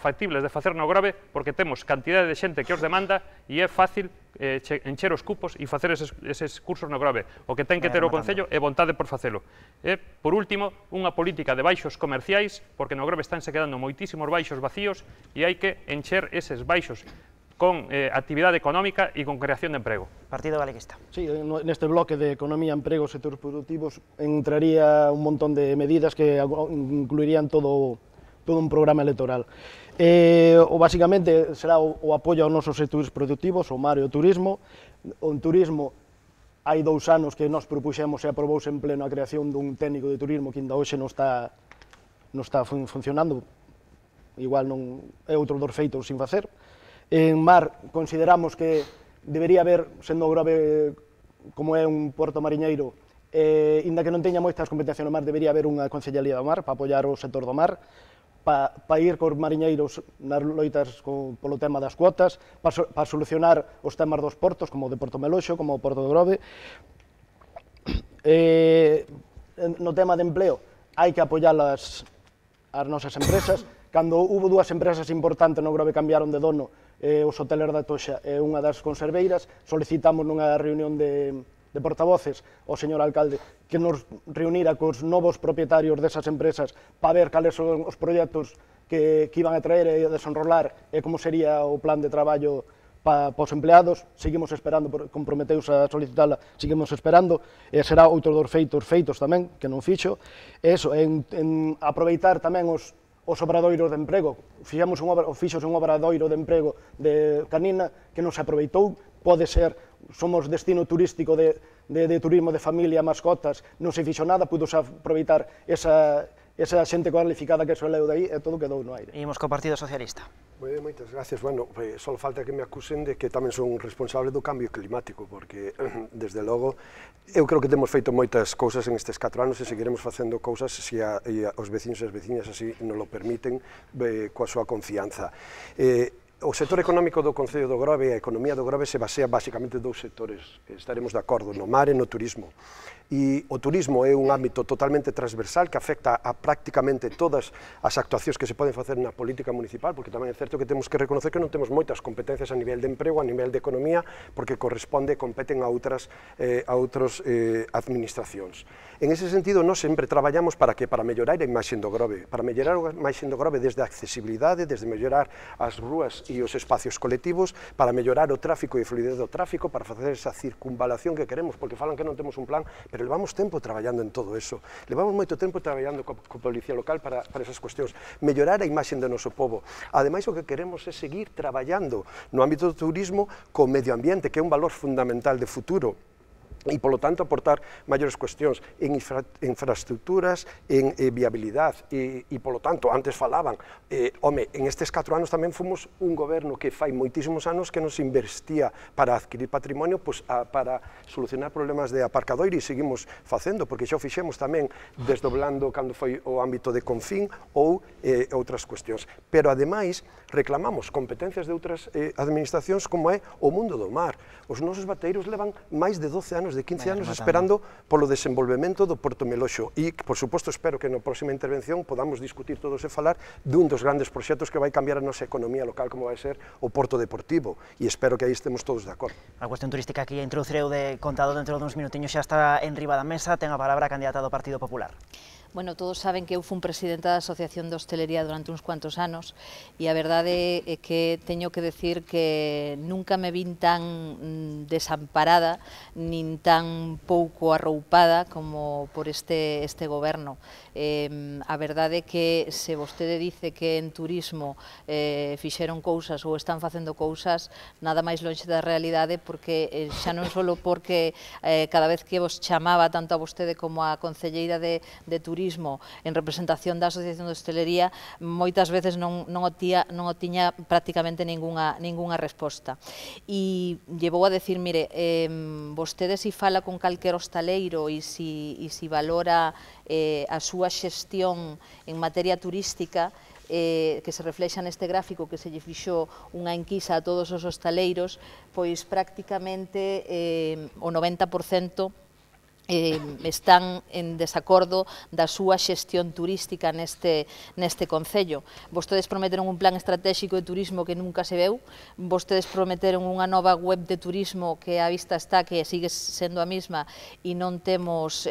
factibles de facer no Grove porque temos cantidade de xente que os demanda e é fácil encher os cupos e facer eses cursos no Grove. O que ten que ter o Concello é vontade por facelo. E, por último, unha política de baixos comerciais, porque no Grove estánse quedando moitísimos baixos vacíos e hai que encher eses baixos con actividade económica e con creación de emprego. Partido Galeguista. Sí, neste bloque de economía, emprego, sectores productivos entraría un montón de medidas que incluirían todo un programa electoral. Basicamente será o apoio aos nosos sectores productivos, o mar e o turismo. En turismo hai 2 anos que nós propuxemos e aprobouse en pleno a creación dun técnico de turismo que ainda hoxe non está funcionando, igual non é outro dos feitos sin facer. En mar consideramos que debería haber, sendo o Grove como é un porto mariñeiro, inda que non teña moitas competencias no mar, debería haber unha concellería do mar para apoiar o sector do mar, para ir cos mariñeiros nas loitas polo tema das cuotas, para solucionar os temas dos portos, como o de Porto Meloxo, como o Porto do Grove. No tema de empleo, hai que apoiar as nosas empresas. Cando hubo 2 empresas importantes no Grove cambiaron de dono, os hoteleros da Toxa e unha das conserveiras, solicitamos nunha reunión de portavoces ao señor alcalde que nos reunira cos novos propietarios desas empresas para ver cales son os proxectos que iban a traer e desenrolar e como sería o plan de traballo para os empleados. Seguimos esperando, comprometeus a solicitala, seguimos esperando, e será outro dos feitos tamén, que non fixo. Eso, en aproveitar tamén os obradoiros de emprego. Fixose un obradoiro de emprego de Canina que non se aproveitou. Pode ser, somos destino turístico de turismo de familia, mascotas, non se fixo nada, pudose aproveitar esa xente cualificada que soleu de aí e todo quedou no aire. Imos co Partido Socialista. Moitas gracias. Bueno, só falta que me acusen de que tamén son responsable do cambio climático, porque, desde logo, eu creo que temos feito moitas cousas en estes 4 anos e seguiremos facendo cousas se os veciños e as veciñas así nos lo permiten coa súa confianza. O sector económico do Concello do Grove e a economía do Grove se basea basicamente en 2 sectores, estaremos de acordo, no mar e no turismo. E o turismo é un ámbito totalmente transversal que afecta a prácticamente todas as actuacións que se poden facer na política municipal, porque tamén é certo que temos que reconocer que non temos moitas competencias a nivel de emprego, a nivel de economía, porque competen a outras administracións. En ese sentido, nós sempre traballamos para mellorar a imaxe do Grove, para mellorar a imaxe do Grove desde a accesibilidade, desde mellorar as rúas e os espacios colectivos, para mellorar o tráfico e a fluidez do tráfico, para facer esa circunvalación que queremos, porque falan que non temos un plan, pero levamos tempo traballando en todo eso. Levamos moito tempo traballando coa Policía Local para esas cuestións. Mellorar a imaxe do noso pobo. Ademais, o que queremos é seguir traballando no ámbito do turismo co medio ambiente, que é un valor fundamental de futuro. e, polo tanto, aportar maiores cuestións en infraestructuras, en viabilidade, e, polo tanto, antes falaban, home, en estes 4 anos tamén fomos un goberno que fai moitísimos anos que nos investia para adquirir patrimonio, para solucionar problemas de aparcadoiro, e seguimos facendo, porque xa o fixemos tamén desdoblando cando foi o ámbito de Confín ou outras cuestións. Pero, ademais, reclamamos competencias de outras administracións como é o mundo do mar. Os nosos bateiros levan máis de 12 anos, de 15 anos, esperando polo desenvolvemento do Porto Meloxo. E, por suposto, espero que na próxima intervención podamos discutir todos e falar dun dos grandes proxectos que vai cambiar a nosa economía local, como vai ser o Porto Deportivo. E espero que aí estemos todos de acordo. A cuestión turística que introducireu de contado dentro duns minutiños xa está en riba da mesa. Ten a palabra a candidata do Partido Popular. Bueno, todos saben que eu fui presidenta da Asociación de Hostelería durante uns cuantos anos e a verdade é que teño que decir que nunca me vin tan desamparada nin tan pouco arroupada como por este goberno. A verdade é que se vostede dice que en turismo fixeron cousas ou están facendo cousas, nada máis lonxe da realidade, porque xa non só porque cada vez que vos chamaba tanto a vostede como a concelleira de turismo en representación da Asociación de Hostelería, moitas veces non o tiña prácticamente ningunha resposta. E llevou a decir, mire, vostede si fala con calquer hostaleiro e si valora a súa xestión en materia turística, que se reflexa neste gráfico que se lle fixou unha enquisa a todos os hostaleiros, pois prácticamente o 90% están en desacordo da súa xestión turística neste concello. Vostedes prometeron un plan estratégico de turismo que nunca se veu, vostedes prometeron unha nova web de turismo que a vista está que sigue sendo a mesma e non temos,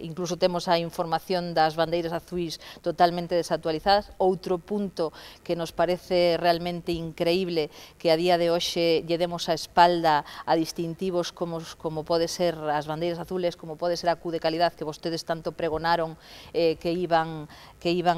incluso temos a información das bandeiras azuis totalmente desactualizadas. Outro punto que nos parece realmente increíble, que a día de hoxe lle demos a espalda a distintivos como pode ser as bandeiras azules, como pode ser a Q de calidad que vostedes tanto pregonaron que iban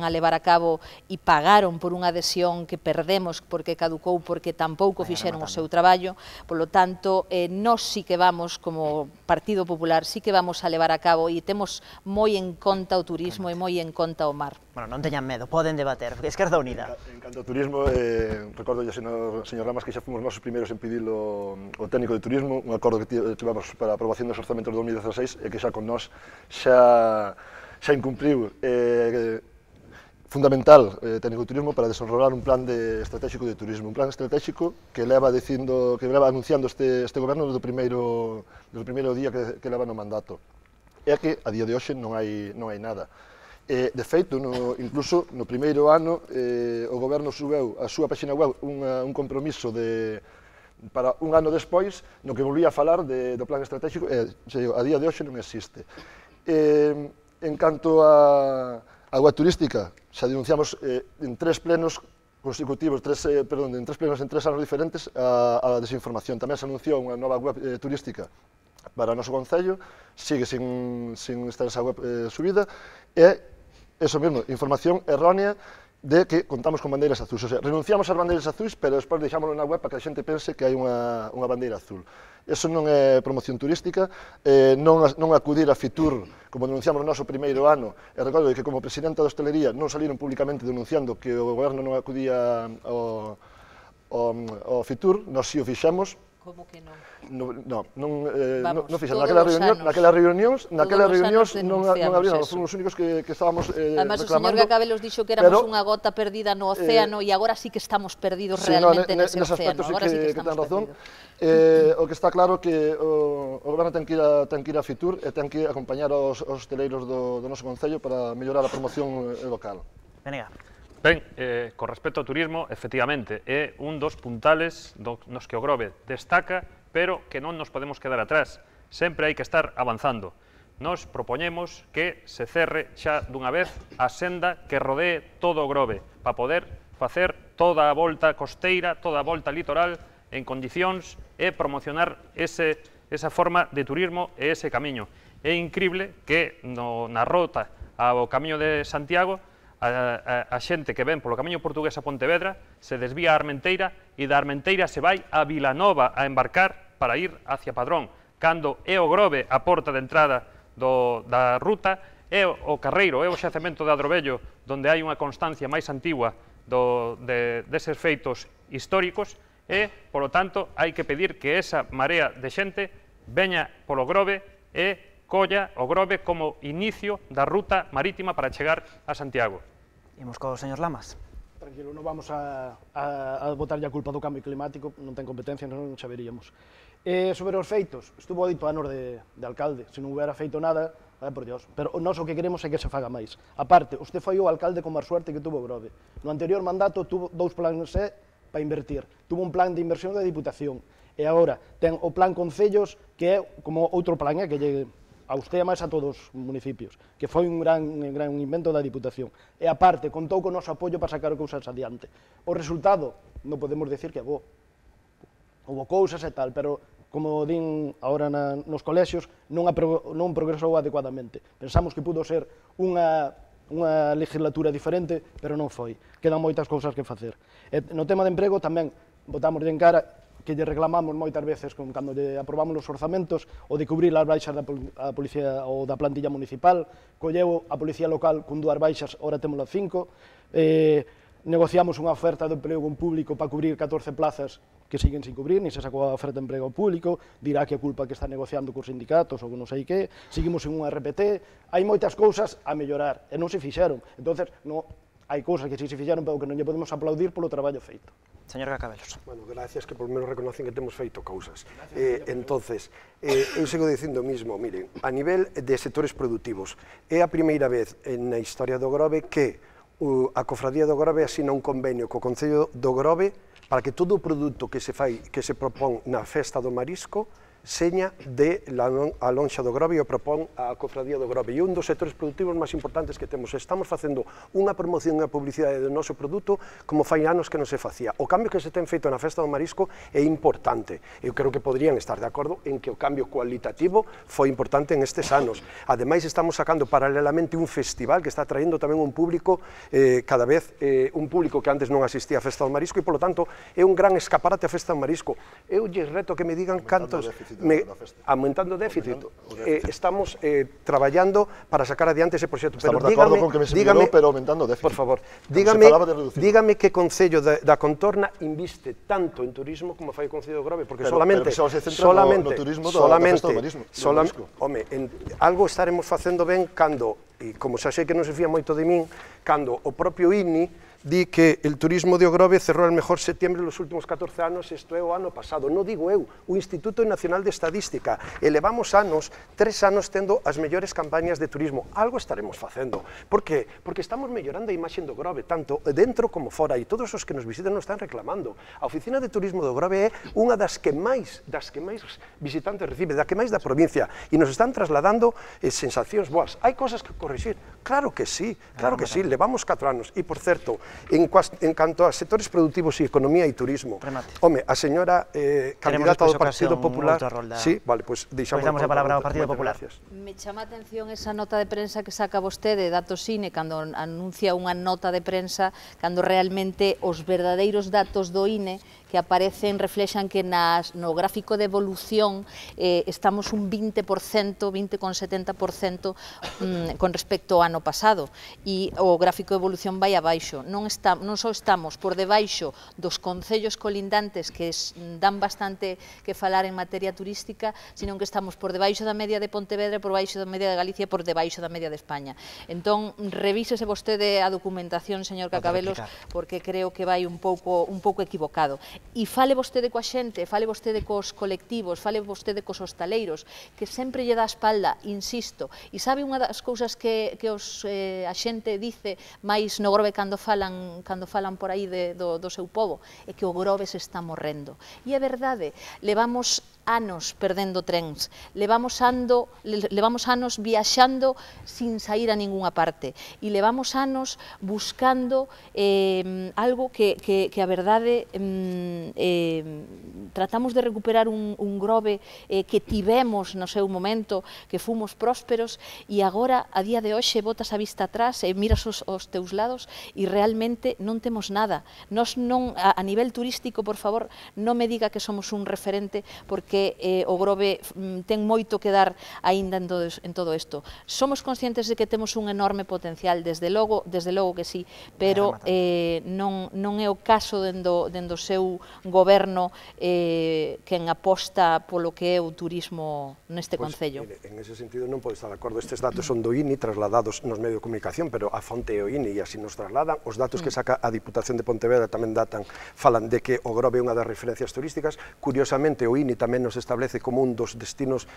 a levar a cabo e pagaron por unha adhesión que perdemos porque caducou, porque tampouco fixeron o seu traballo. Polo tanto, nós sí que vamos, como Partido Popular, sí que vamos a levar a cabo e temos moi en conta o turismo e moi en conta o mar. Bueno, non teñan medo, poden debater. Esquerda Unida. En canto ao turismo, recordo ya, señor Ramas, que xa fomos nós os primeiros en pedir o técnico de turismo, un acordo que tivemos para a aprobación dos orzamentos de 2016 e que xa con nós xa incumpriu fundamental técnico de turismo para desenrolar un plan estratégico de turismo, un plan estratégico que leva anunciando este goberno desde o primeiro día que leva no mandato. É que a día de hoxe non hai nada. De feito, incluso no primeiro ano, o goberno subeu a súa página web un compromiso para un ano despois, no que volvía a falar do plan estratégico, a día de hoxe non existe. En canto a web turística, xa denunciamos en 3 plenos consecutivos, en 3 plenos en 3 anos diferentes, a desinformación. Tamén se anunciou unha nova web turística para o noso concello, sigue sin estar esa web subida, e eso mesmo, información errónea de que contamos con bandeiras azuis. O sea, renunciamos ás bandeiras azuis, pero despois deixámoslo na web para que a xente pense que hai unha bandeira azul. Eso non é promoción turística, non acudir a Fitur, como denunciamos no noso primeiro ano, e recordo que como presidenta da hostelería non saliron públicamente denunciando que o goberno non acudía ao Fitur, nós si o fixemos. Como que non? Non fixemos. Naquelas reunións non abriron, fomos os únicos que estábamos reclamando. Además, o señor Gacabelos dixo que éramos unha gota perdida no océano e agora sí que estamos perdidos realmente nese océano. Agora sí que ten razón. O que está claro que o goberno ten que ir a Fitur e ten que acompañar aos hosteleiros do noso concello para mellorar a promoción local. Venga. Ben, con respecto ao turismo, efectivamente, é un dos puntales nos que o Grove destaca, pero que non nos podemos quedar atrás. Sempre hai que estar avanzando. Nos propoñemos que se cerre xa dunha vez a senda que rodee todo o Grove, para poder facer toda a volta costeira, toda a volta litoral, en condicións e promocionar esa forma de turismo e ese camiño. É incrible que na rota ao Camiño de Santiago a xente que ven polo Camiño Portugués a Pontevedra se desvía a Armenteira e da Armenteira se vai a Vilanova a embarcar para ir hacia Padrón. cando é o Grove a porta de entrada da ruta, é o Carreiro, é o xacemento de Adrovello, onde hai unha constancia máis antigua deses feitos históricos, e, polo tanto, hai que pedir que esa marea de xente veña polo Grove e colla o Grove como inicio da ruta marítima para chegar a Santiago. Imos co señor Lamas. Tranquilo, non vamos a botarlle a culpa do cambio climático, non ten competencia, non saberíamos. Sobre os feitos, estuvo dito anos de alcalde, se non hubiera feito nada, por Dios, pero nós o que queremos é que se faga máis. A parte, usted foi o alcalde con máis suerte que tuvo Grove. No anterior mandato tuvo 2 planes para invertir, tuvo un plan de inversión da Diputación, e agora ten o plan Concellos, que é como outro plan, que lle a usted e máis a todos os municipios, que foi un gran invento da Diputación. E aparte, contou con o noso apoio para sacar cousas adiante. O resultado, non podemos decir que é bo. Houve cousas e tal, pero, como din agora nos colexios, non progresou adecuadamente. Pensamos que pudo ser unha legislatura diferente, pero non foi. Quedan moitas cousas que facer. No tema de emprego tamén botamos en cara que lle reclamamos moitas veces cando lle aprobamos os orzamentos o de cubrir as baixas da policía ou da plantilla municipal, colleu a policía local con 2 baixas, ora temos 5, negociamos unha oferta de emprego público para cubrir 14 plazas que siguen sin cubrir, ni se sacou a oferta de emprego público, dirá que a culpa que está negociando cos sindicatos ou non sei que, seguimos en un RPT, hai moitas cousas a mellorar e non se fixeron, entonces hai cousas que si se fixeron pero que non lle podemos aplaudir polo traballo feito. Señor Cacabelos. Bueno, gracias que por menos reconocen que temos feito cousas. Entonces, eu sigo dicindo o mismo, miren, a nivel de sectores productivos, é a primeira vez na historia do Grove que a Cofradía do Grove asina un convenio co Concello do Grove para que todo o produto que se propón na festa do marisco seña de a lonxa do Grove e o propón a Cofradía do Grove. E un dos sectores productivos máis importantes que temos. Estamos facendo unha promoción e unha publicidade do noso produto como fai anos que non se facía. O cambio que se ten feito na Festa do Marisco é importante. Eu creo que poderían estar de acordo en que o cambio cualitativo foi importante en estes anos. Ademais, estamos sacando paralelamente un festival que está traendo tamén un público cada vez, un público que antes non asistía á Festa do Marisco e, polo tanto, é un gran escaparate a Festa do Marisco. Eu lles reto que me digan cantos... aumentando o déficit. Estamos traballando para sacar adiante ese proxecto. Estamos de acordo con que me se melhorou, pero aumentando o déficit. Por favor, dígame que Concello da Contorna inviste tanto en turismo como fai o Concello do Grove, porque solamente no turismo da Festa do Marisco. Home, algo estaremos facendo ben cando, e como xa sei que non se fía moito de min, cando o propio INI di que el turismo de Grove cerrou el mejor septiembre los últimos 14 anos, isto é o ano pasado, non digo eu, o Instituto Nacional de Estadística, elevamos 3 anos tendo as mellores campañas de turismo, algo estaremos facendo. Por que? Porque estamos mellorando a imaxe do Grove, tanto dentro como fora, e todos os que nos visitan nos están reclamando. A Oficina de Turismo do Grove é unha das que máis visitantes recibe, da que máis da provincia, e nos están trasladando sensacións boas. Hai cosas que corrixir? Claro que sí, levamos 4 anos, e por certo, en canto a sectores productivos e economía e turismo, home, a señora candidata do Partido Popular... Sí, vale, pois deixamos a palabra ao Partido Popular. Me chama a atención esa nota de prensa que saca vostede, datos INE, cando anuncia unha nota de prensa, cando realmente os verdadeiros datos do INE que aparecen reflexan que no gráfico de evolución estamos un 20%, 20,70% con respecto ao ano pasado, e o gráfico de evolución vai abaixo. Non só estamos por debaixo dos concellos colindantes que dan bastante que falar en materia turística, sino que estamos por debaixo da media de Pontevedra, por baixo da media de Galicia e por debaixo da media de España. Entón, revísese vostede a documentación, señor Cacabelos, porque creo que vai un pouco equivocado. E fale vostede coa xente, fale vostede cos colectivos, fale vostede cos hostaleiros, que sempre lle dá a espalda, insisto, e sabe unha das cousas que a xente dice máis no Grove cando falan por aí do seu pobo, é que o Grove se está morrendo. E é verdade, levamos anos perdendo trens, levamos anos viaxando sin sair a ningunha parte, e levamos anos buscando algo que a verdade tratamos de recuperar un Grove que tivemos no seu momento, que fomos prósperos, e agora, a día de hoxe, botas a vista atrás e miras os teus lados e realmente non temos nada. Nos non, a nivel turístico, por favor, non me diga que somos un referente, porque que o Grove ten moito que dar aínda en todo isto. Somos conscientes de que temos un enorme potencial, desde logo que sí, pero non é o caso dendo o seu goberno quen aposta polo que é o turismo neste concello. En ese sentido non podo estar de acordo. Estes datos son do INI trasladados nos medios de comunicación, pero a fonte é o INI e así nos trasladan. Os datos que saca a Diputación de Pontevedra tamén falan de que o Grove é unha das referencias turísticas. Curiosamente, o INI tamén nos establece como un dos destinos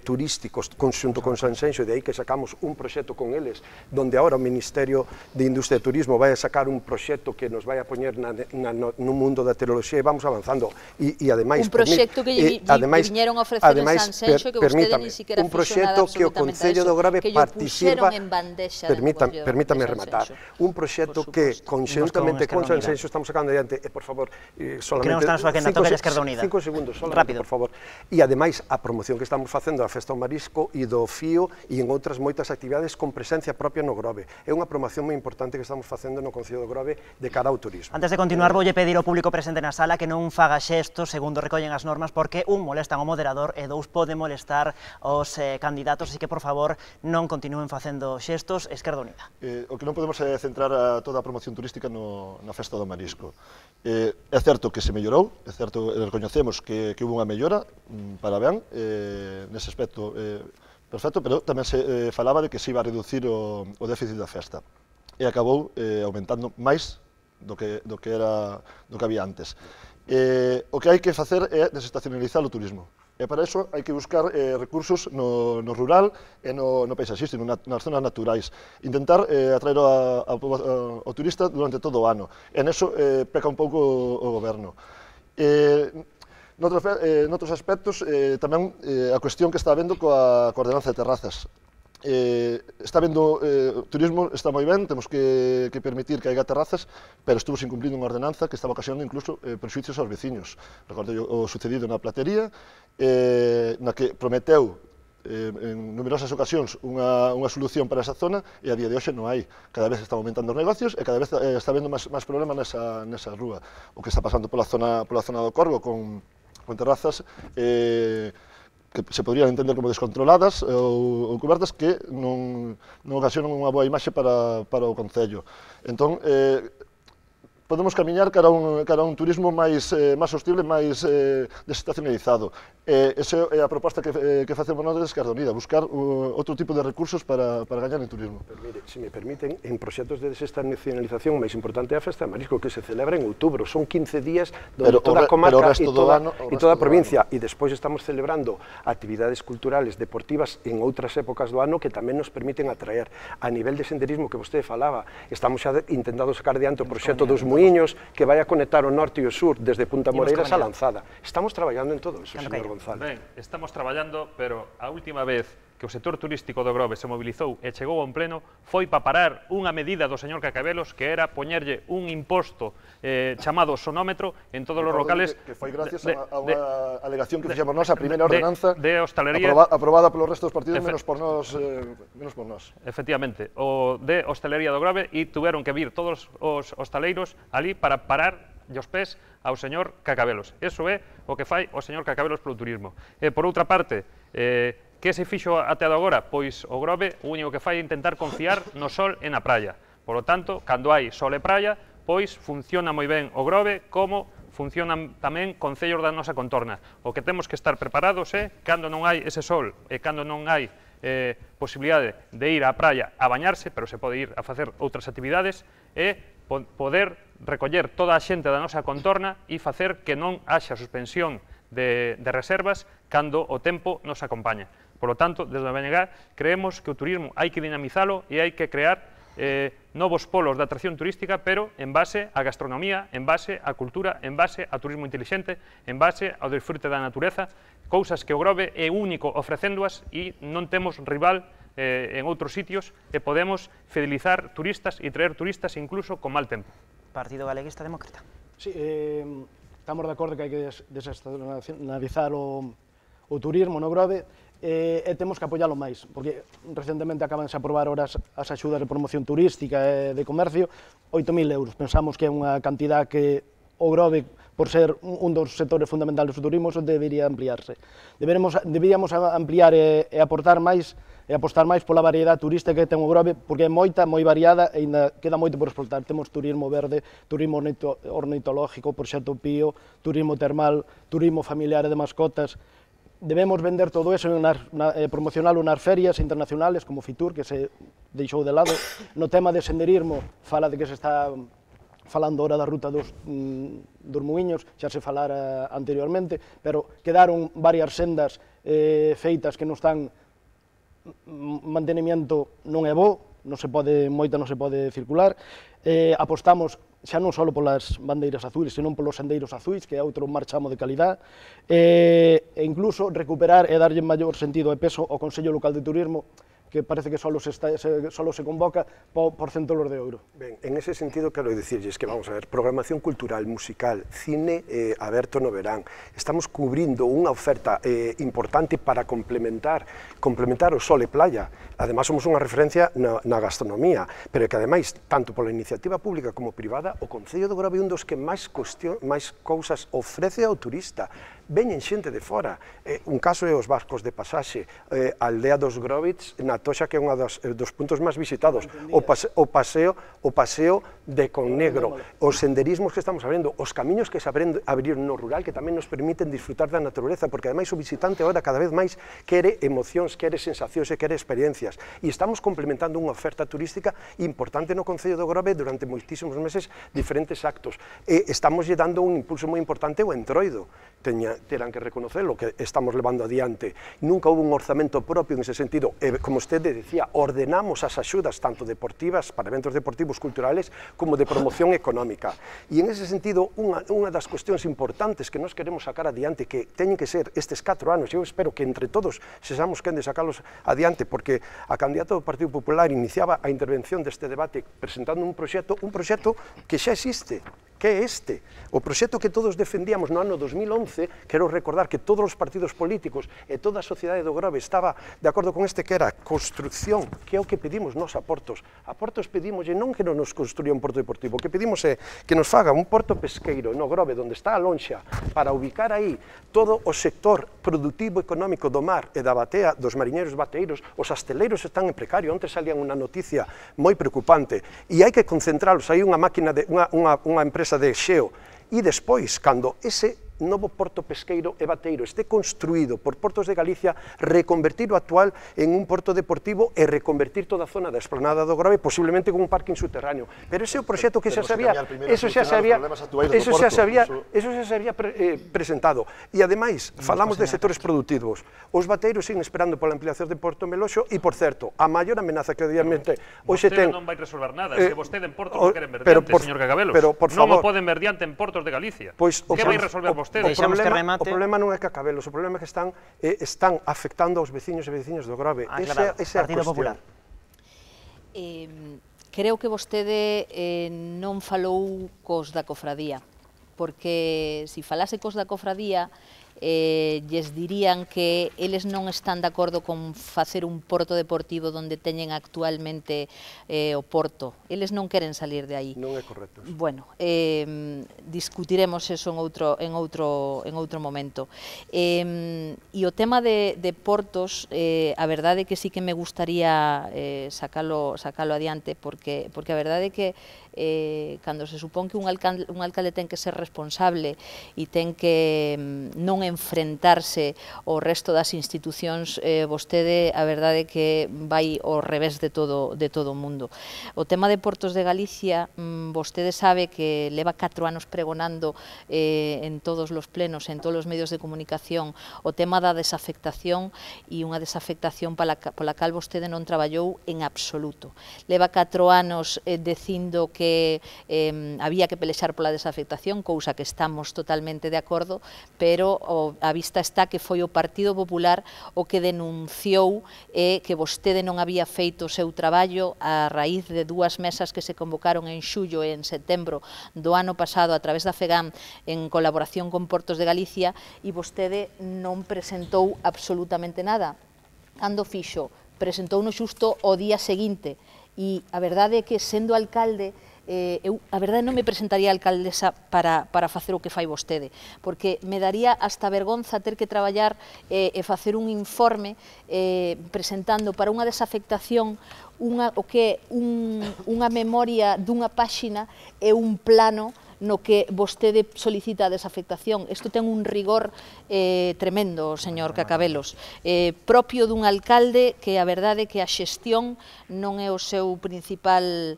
turísticos conxunto con Sanxenxo, e de aí que sacamos un proxecto con eles, donde agora o Ministerio de Industria e Turismo vai a sacar un proxecto que nos vai a poñer no mundo da tecnoloxía, e vamos avanzando. E ademais, un proxecto que viñeron a ofrecer en Sanxenxo, que vostede ni siquiera un proxecto que o Concello do Grove participa, permítame rematar, un proxecto que conxuntamente con Sanxenxo estamos sacando adiante, e por favor, solamente 5 segundos, solamente, por favor, e ademais a promoción que estamos facendo da Festa ao Marisco e do Fío e en outras moitas actividades con presencia propia no Grove. É unha promoción moi importante que estamos facendo no Concello do Grove de cara ao turismo. Antes de continuar, voulle pedir ao público presente na sala que non faga xestos segundo recollen as normas, porque un, molestan ao moderador e dous, pode molestar aos candidatos, así que, por favor, non continúen facendo xestos. Esquerda Unida. O que non podemos é centrar a toda a promoción turística na Festa do Marisco. É certo que se mellorou, é certo, recoñecemos que houve unha mellora, para ben, nese aspecto perfecto, pero tamén se falaba de que se iba a reducir o déficit da festa, e acabou aumentando máis do que había antes. O que hai que facer é desestacionalizar o turismo. E para iso hai que buscar recursos no rural e no paisaxístico, nas zonas naturais. Intentar atraer ao turista durante todo o ano. E neso peca un pouco o goberno. Noutros aspectos, tamén a cuestión que está habendo coa ordenanza de terrazas. Está vendo, o turismo está moi ben, temos que permitir que haiga terrazas, pero estuvo incumplindo unha ordenanza que estaba ocasionando incluso prexuicios aos veciños. Recordei o sucedido na Platería, na que prometeu en numerosas ocasións unha solución para esa zona, e a día de hoxe non hai. Cada vez están aumentando os negocios e cada vez está habendo máis problemas nesa rúa. O que está pasando pola zona do Corgo con terrazas que se poderían entender como descontroladas ou cubertas, que non ocasionan unha boa imaxe para o Concello. Entón, podemos camiñar cara a un turismo máis sostible, máis desestacionalizado. Esa é a proposta que facemos nós desde Esquerda Unida, buscar outro tipo de recursos para gañar en turismo. Pero mire, se me permiten, en proxectos de desestacionalización o máis importante é a Festa de Marisco, que se celebra en outubro. Son 15 días donde toda a comarca e toda a provincia, e despois estamos celebrando actividades culturales, deportivas en outras épocas do ano que tamén nos permiten atraer. A nivel de senderismo que vostede falaba, estamos xa intentando sacar diante o proxecto dos Muiños, que vai a conectar o norte e o sur desde Punta Moreiras a Lanzada. Estamos traballando en todo eso, señor González. Ben, estamos traballando, pero a última vez que o sector turístico do Grove se mobilizou e chegou a un pleno foi para parar unha medida do señor Cacabelos, que era poñerlle un imposto chamado sonómetro en todos os locales. Que foi gracias a unha alegación que fixemos nós, a primeira ordenanza de hostalería aprobada polo resto dos partidos, menos por nós. Efectivamente, o de hostelería do Grove, e tuveron que vir todos os hostaleiros ali para parar os pés ao señor Cacabelos. Eso é o que fai o señor Cacabelos polo turismo. Por outra parte, que se fixo até agora? Pois o Grove o único que fai é intentar confiar no sol e na praia. Por lo tanto, cando hai sol e praia, pois funciona moi ben o Grove, como funcionan tamén concellos da nosa contorna. O que temos que estar preparados é, cando non hai ese sol e cando non hai posibilidade de ir á praia a bañarse, pero se pode ir a facer outras actividades, é poder recoller toda a xente da nosa contorna e facer que non haxa suspensión de reservas cando o tempo nos acompaña. Por lo tanto, desde o BNG creemos que o turismo hai que dinamizalo e hai que crear novos polos de atracción turística, pero en base á gastronomía, en base á cultura, en base ao turismo intelixente, en base ao disfrute da natureza, cousas que o Grove é único ofrecéndoas e non temos rival en outros sitios, e podemos fidelizar turistas e traer turistas incluso con mal tempo. Partido Galeguista Demócrata. Sí, estamos de acordo que hai que desestacionalizar o turismo no Grove, e temos que apoialo máis, porque recentemente acabanse a aprobar as axudas de promoción turística e de comercio, 8.000 euros. Pensamos que é unha cantidad que o Grove por ser un dos sectores fundamentales do turismo, eso debería ampliarse. Deberíamos ampliar e aportar máis e apostar máis pola variedade turística que ten o Grove, porque é moita, moi variada e ainda queda moito por explotar. Temos turismo verde, turismo ornitológico, proxecto Pío, turismo termal, turismo familiar e de mascotas. Debemos vender todo eso e promocionalo nas ferias internacionales como Fitur, que se deixou de lado. No tema de senderismo, fala de que se está falando ahora da ruta dos Muiños, xa se falara anteriormente, pero quedaron varias sendas feitas que non están mantenimiento non é bo, moita non se pode circular, apostamos xa non só polas bandeiras azuis, senón polos sendeiros azuis, que é outro marchamo de calidad, e incluso recuperar e darlle maior sentido e peso ao Consello Local de Turismo, que parece que solo se convoca por centolos de euro. Ben, en ese sentido quero dicirlles que, vamos a ver, programación cultural, musical, cine aberto no verán. Estamos cubrindo unha oferta importante para complementar o sol e playa. Ademais, somos unha referencia na gastronomía, pero que, ademais, tanto pola iniciativa pública como privada, o Concello do Grove é un dos que máis cousas ofrece ao turista. Veñen xente de fora. Un caso é os barcos de pasaxe, a aldea dos Grovits, na Toxa, que é un dos puntos máis visitados, o paseo de Connegro, os senderismos que estamos abrindo, os camiños que se abriron no rural, que tamén nos permiten disfrutar da naturaleza, porque ademais o visitante agora cada vez máis quere emocións, quere sensacións e quere experiencias. E estamos complementando unha oferta turística importante no Concello do Grove durante moitísimos meses, diferentes actos. Estamos lle dando un impulso moi importante ao Entroido. Terán que reconocerlo, que estamos levando adiante. Nunca houve un orzamento propio en ese sentido. Como usted decía, ordenamos as axudas tanto deportivas, para eventos deportivos culturales, como de promoción económica. E en ese sentido, unha das cuestións importantes que nos queremos sacar adiante, que teñen que ser estes 4 anos, eu espero que entre todos sexamos quen de sacalos adiante, porque a candidata do Partido Popular iniciaba a intervención deste debate presentando un proxecto que xa existe, que é este. O proxecto que todos defendíamos no ano 2011, quero recordar que todos os partidos políticos e toda a sociedade do Grove estaba de acordo con este, que era construcción, que é o que pedimos nos a Portos. A Portos pedimos non que non nos construya un porto deportivo, o que pedimos é que nos faga un porto pesqueiro no Grove, onde está a lonxa, para ubicar aí todo o sector productivo económico do mar e da batea, dos mariñeiros bateeiros. Os asteleiros están en precario, onte salían unha noticia moi preocupante, e hai que concentralos. Hai unha máquina, unha empresa de xeo, e despois, cando ese novo porto pesqueiro e bateiro este construído por Portos de Galicia, reconvertir o actual en un porto deportivo e reconvertir toda a zona da esplanada do Grove, posiblemente con un parking subterráneo. Pero ese é o proxecto que xa se había presentado. E ademais, falamos de sectores productivos. Os bateiros siguen esperando pola ampliación de Porto Meloxo e, por certo, a maior amenaza que obviamente hoxe ten... Vostede non vai resolver nada, se vostede en Portos non queren verdiante, señor Cagabelos. Non o poden verdiante en Portos de Galicia. Que vai resolver vostede? O problema non é Cacabelos, o problema é que están afectando aos veciños e veciñas do Grove. Esa é a cuestión. Creo que vostede non falou cos da cofradía, porque se falase cos da cofradía, lles dirían que eles non están de acordo con facer un porto deportivo donde teñen actualmente o porto. Eles non queren salir de aí. Non é correcto. Bueno, discutiremos eso en outro momento. E o tema de portos, a verdade é que sí que me gustaría sacalo adiante, porque a verdade é que cando se supón que un alcalde ten que ser responsable e ten que non enfrentarse ao resto das institucións, vostede a verdade é que vai ao revés de todo o mundo. O tema de Portos de Galicia, vostede sabe que leva 4 anos pregonando en todos os plenos, en todos os medios de comunicación, o tema da desafectación, e unha desafectación pola cal vostede non traballou en absoluto. Leva 4 anos dicindo que había que pelexar pola desafectación, cousa que estamos totalmente de acordo, pero a vista está que foi o Partido Popular o que denunciou que vostede non había feito o seu traballo a raíz de 2 mesas que se convocaron en xullo e en setembro do ano pasado a través da FEGAM en colaboración con Portos de Galicia, e vostede non presentou absolutamente nada. Cando fixo? Presentou no xusto o día seguinte, e a verdade é que, sendo alcalde, eu, a verdade, non me presentaría alcaldesa para facer o que fai vostede, porque me daría hasta vergonza ter que traballar e facer un informe presentando para unha desafectación o que é unha memoria dunha páxina e un plano no que vostede solicita a desafectación. Isto ten un rigor tremendo, señor Cacabelos, propio dun alcalde que a verdade é que a xestión non é o seu principal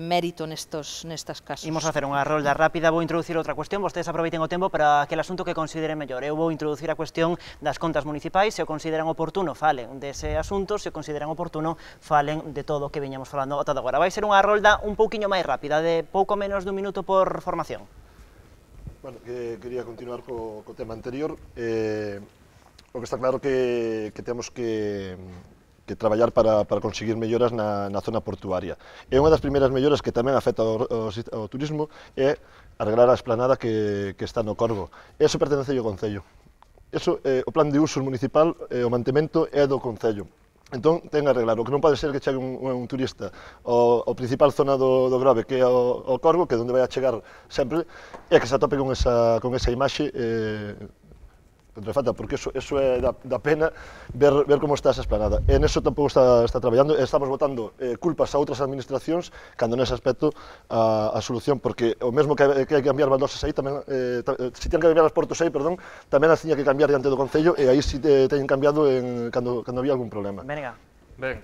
mérito nestas casos. Imos facer unha rolda rápida, vou introducir outra cuestión, vostedes aproveiten o tempo para aquel asunto que consideren mellor. Eu vou introducir a cuestión das contas municipais, se o consideran oportuno falen dese asunto, se o consideran oportuno falen de todo o que viñamos falando ata agora. Vai ser unha rolda un pouquiño máis rápida, de pouco menos dun minuto por formación. Bueno, quería continuar co tema anterior. O que está claro que temos que traballar para conseguir melloras na zona portuaria. E unha das primeiras melloras que tamén afecta ao turismo é arreglar a esplanada que está no Corgo. Eso pertence ao Concello. Eso, o plan de uso municipal, o mantemento é do Concello. Entón, ten que arreglar. O que non pode ser que chegue un turista ao principal zona do Grove, que é o Corgo, que é onde vai a chegar sempre, e que se atope con esa imaxe contrafacta, porque eso é da pena ver como está esa esplanada. E neso tampouco está traballando, e estamos botando culpas a outras administracións, cando nese aspecto a solución, porque o mesmo que hai que cambiar baldosas aí, tamén, se tiñan que cambiar as portos aí, perdón, tamén as tiña que cambiar diante do Concello, e aí si teñen cambiado cando había algún problema. Venga. Ben,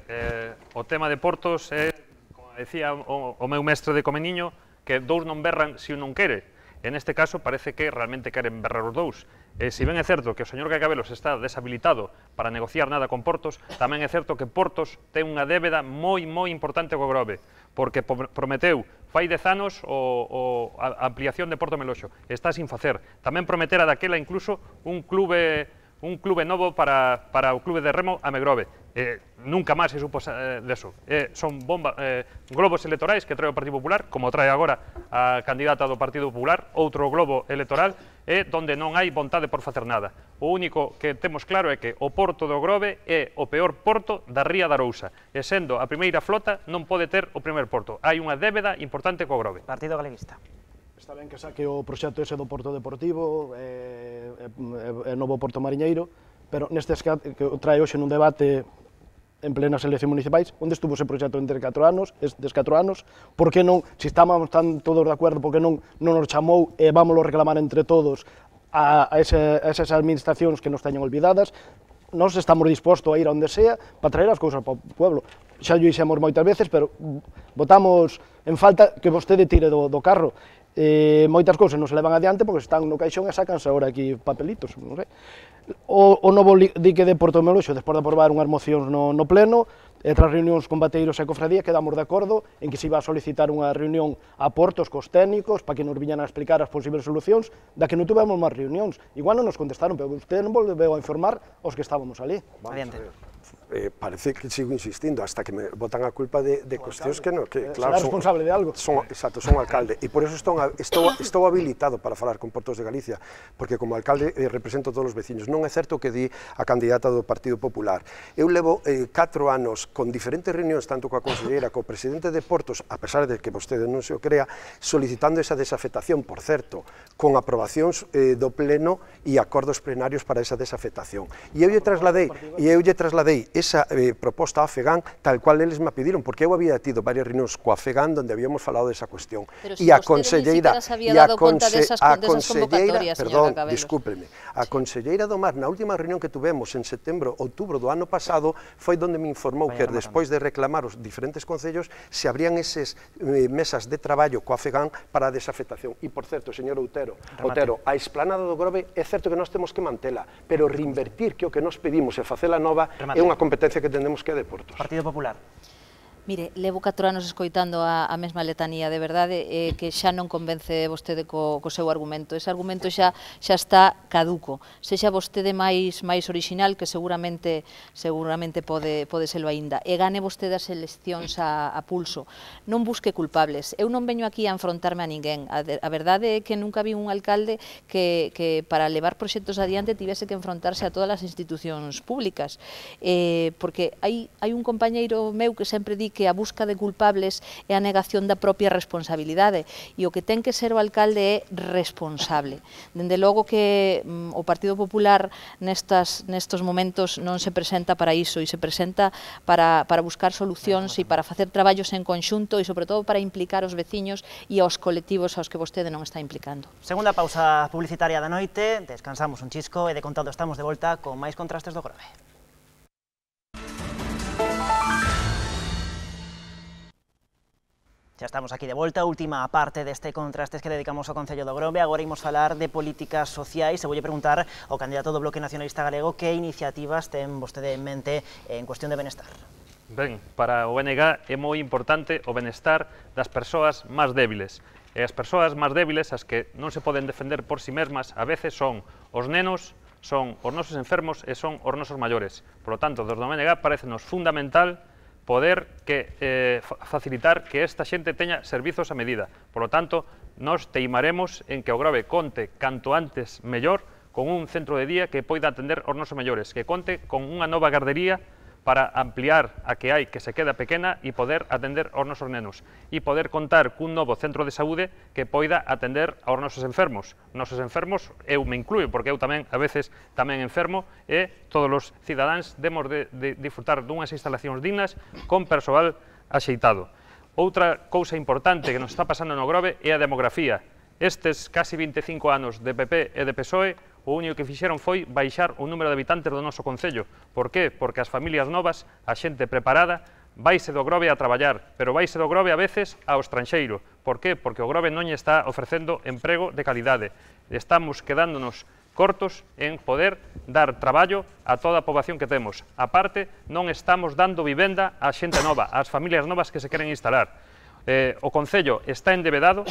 o tema de portos é, como decía o meu mestre de Comeniño, que dous non berran se un non quere. En este caso parece que realmente queren berrar os dous. Se ben é certo que o señor Cacabelos está deshabilitado para negociar nada con Portos, tamén é certo que Portos ten unha débeda moi importante co Grove, porque prometeu fai 10 anos a ampliación de Porto Meloxo, está sin facer. Tamén prometera daquela incluso un clube novo para o clube de remo a Megrove. Nunca máis se supo deso. Son globos electorais que trae o Partido Popular, como trae agora a candidata do Partido Popular, outro globo electoral, donde non hai vontade por facer nada. O único que temos claro é que o porto do Grove é o peor porto da ría da Arousa, e sendo a primeira flota non pode ter o primeiro porto. Hai unha débeda importante co Grove. Partido Galeguista. Está ben que saque o proxecto ese do Porto Deportivo, e novo Porto Mariñeiro, pero nestes que trae hoxe nun debate en plenas eleccións municipais, onde estuvo ese proxecto entre 4 anos, estes 4 anos, por que non, se estábamos tan todos de acordo, por que non nos chamou e vámoslo reclamar entre todos a esas administracións que nos teñen olvidadas? Nós estamos dispostos a ir a onde sea para traer as cousas para o pueblo. Xa o dixemos moitas veces, pero botamos en falta que vostede tire do carro. Moitas cousas non se levan adiante porque están no caixón e sacanse agora aquí papelitos, non sei. O novo dique de Porto Meloxo, despois de aprobar unhas mocións no pleno, e tras reunións con bateiros e cofradía, quedamos de acordo en que se iba a solicitar unha reunión a Portos cos técnicos para que nos viñan a explicar as posibles solucións, da que non tuvemos máis reunións. Igual non nos contestaron, pero usted non volveu a informar aos que estábamos ali. Adiante. Parece que sigo insistindo hasta que me botan a culpa de cuestións que non, que claro, será responsable de algo. Exacto, son alcalde, e por eso estou habilitado para falar con Portos de Galicia, porque como alcalde represento a todos os veciños. Non é certo que di a candidata do Partido Popular. Eu levo 4 anos con diferentes reunións, tanto coa conselleira, co presidente de Portos, a pesar de que vostede non se o crea, solicitando esa desafectación, por certo, con aprobacións do pleno e acordos plenarios para esa desafectación. E eu lle trasladei esa proposta a FEGAN tal cual eles me pediron, porque eu había tido varias reunións coa FEGAN donde habíamos falado desa cuestión. E a conselleira, perdón, discúlpeme, a conselleira do Mar na última reunión que tuvemos en setembro, outubro do ano pasado, foi donde me informou que despois de reclamar os diferentes concellos se abrían esas mesas de traballo coa FEGAN para a desafectación. E, por certo, señor Otero, a esplanada do Grove é certo que nós temos que mantela, pero reinvertir, que o que nos pedimos e facela nova é unha competencia que tendemos que é de Portos. Partido Popular. Mire, levo 4 anos escoitando a mesma letanía, de verdade, que xa non convence vostede co seu argumento. Ese argumento xa está caduco. Sexa vostede máis orixinal, que seguramente pode serlo aínda, e gane vostede as eleccións a pulso. Non busque culpables. Eu non veño aquí a enfrontarme a ninguén. A verdade é que nunca vi un alcalde que para levar proxectos adiante tivese que enfrontarse a todas as institucións públicas. Porque hai un compañeiro meu que sempre di que a busca de culpables é a negación da propia responsabilidade, e o que ten que ser o alcalde é responsable. Dende logo que o Partido Popular nestos momentos non se presenta para iso, e se presenta para buscar solucións e para facer traballos en conxunto e, sobre todo, para implicar os veciños e aos colectivos aos que vostede non está implicando. Segunda pausa publicitaria da noite, descansamos un chisco e de contado estamos de volta con máis contrastes do Grove. Xa estamos aquí de volta, última parte deste contrastes que dedicamos ao Concello do Grove. Agora imos falar de políticas sociais e voulle preguntar ao candidato do Bloque Nacionalista Galego que iniciativas ten vostede en mente en cuestión de benestar. Ben, para o BNG é moi importante o benestar das persoas máis débiles. E as persoas máis débiles, as que non se poden defender por si mesmas, a veces son os nenos, son os nosos enfermos e son os nosos maiores. Por lo tanto, desde o BNG parecenos fundamental poder facilitar que esta xente teña servizos a medida. Por lo tanto, nos teimaremos en que o Grove conte canto antes mellor con un centro de día que poida atender os nosos maiores, que conte con unha nova gardería para ampliar a que hai que se queda pequena e poder atender aos nosos nenos e poder contar cun novo centro de saúde que poida atender aos nosos enfermos. Nosos enfermos, eu me incluyo, porque eu tamén, a veces, tamén enfermo, e todos os cidadáns demos de disfrutar dunhas instalacións dignas con persoal axeitado. Outra cousa importante que nos está pasando no Grove é a demografía. Estes casi 25 anos de PP e de PSOE, o único que fixeron foi baixar o número de habitantes do noso Concello. Por qué? Porque as familias novas, a xente preparada, vaise do Grove a traballar, pero vaise do Grove a veces ao estranxeiro. Por qué? Porque o Grove non lle está ofrecendo emprego de calidade. Estamos quedándonos cortos en poder dar traballo a toda a poboación que temos. A parte, non estamos dando vivenda á xente nova, ás familias novas que se queren instalar. O Concello está endevedado,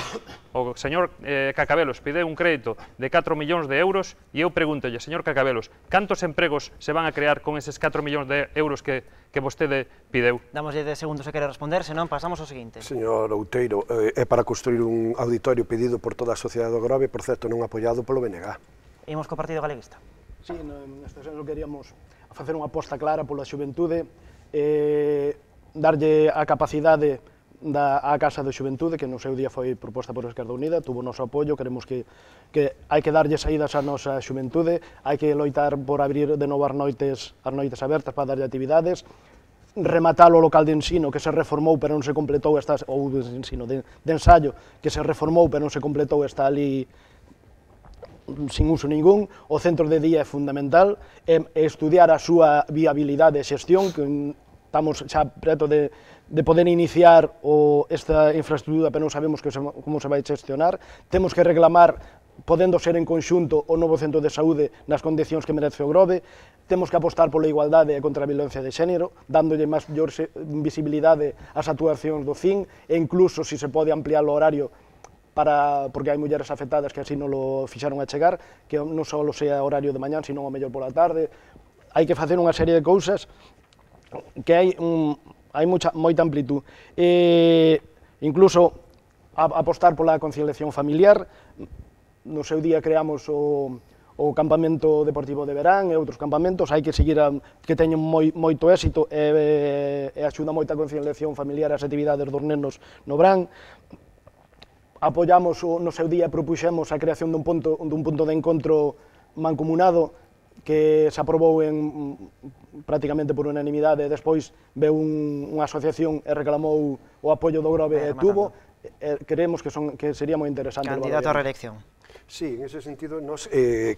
o señor Cacabelos pide un crédito de 4 millóns de euros e eu pregúntolle, señor Cacabelos, cantos empregos se van a crear con eses 4 millóns de euros que vostede pideu? Damos 10 segundos se quere responder, senón pasamos ao seguinte. Señor Outeiro, é para construir un auditorio pedido por toda a sociedade do Grove, por certo non apoiado polo BNG. Imos co Partido Galeguista. Sí, neste senso queríamos facer unha aposta clara pola xuventude, darlle a capacidade á Casa de Xuventude, que no seu día foi proposta por Esquerda Unida, tuvo o noso apoio, queremos que hai que darlle saídas á nosa xuventude, hai que loitar por abrir de novo as noites abertas para darlle actividades, rematar o local de ensino que se reformou pero non se completou, ou de ensino, de ensaio, que se reformou pero non se completou, está ali sin uso ningún. O centro de día é fundamental, estudiar a súa viabilidade e xestión, que estamos xa preto de poder iniciar esta infraestructura, pero non sabemos como se vai gestionar. Temos que reclamar, podendo ser en conxunto, o novo centro de saúde nas condicións que merece o Grove. Temos que apostar pola igualdade e contra a violencia de xénero, dándolle máis visibilidade ás actuacións do CIN, e incluso, se pode, ampliar o horario, porque hai mulleres afectadas que así non lo fixaron a chegar, que non só sea horario de mañán, sino o mellor pola tarde. Hai que facer unha serie de cousas que hai moita amplitud. Incluso apostar pola conciliación familiar. No seu día creamos o campamento deportivo de verán e outros campamentos, hai que seguir que teñen moito éxito e axuda moita a conciliación familiar as actividades dos nenos no verán. Apoiamos no seu día, propuxemos a creación dun punto de encontro mancomunado que se aprobou prácticamente por unanimidade, e despois veu unha asociación e reclamou o apoio do Grove e tuvo. Creemos que sería moi interesante. Candidato a reelección. Sí, en ese sentido,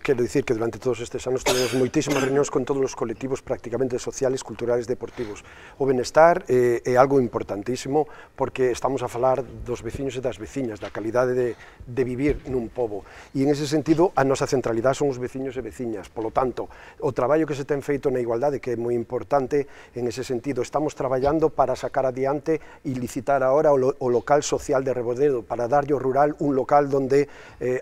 quero dicir que durante todos estes anos tenemos moitísimas reunións con todos os colectivos prácticamente sociales, culturales, deportivos. O benestar é algo importantísimo porque estamos a falar dos veciños e das veciñas, da calidade de vivir nun pobo. E en ese sentido, a nosa centralidade son os veciños e veciñas. Por lo tanto, o traballo que se ten feito na igualdade, que é moi importante, en ese sentido, estamos traballando para sacar adiante e licitar agora o local social de Reboredo, para darlle ao rural un local donde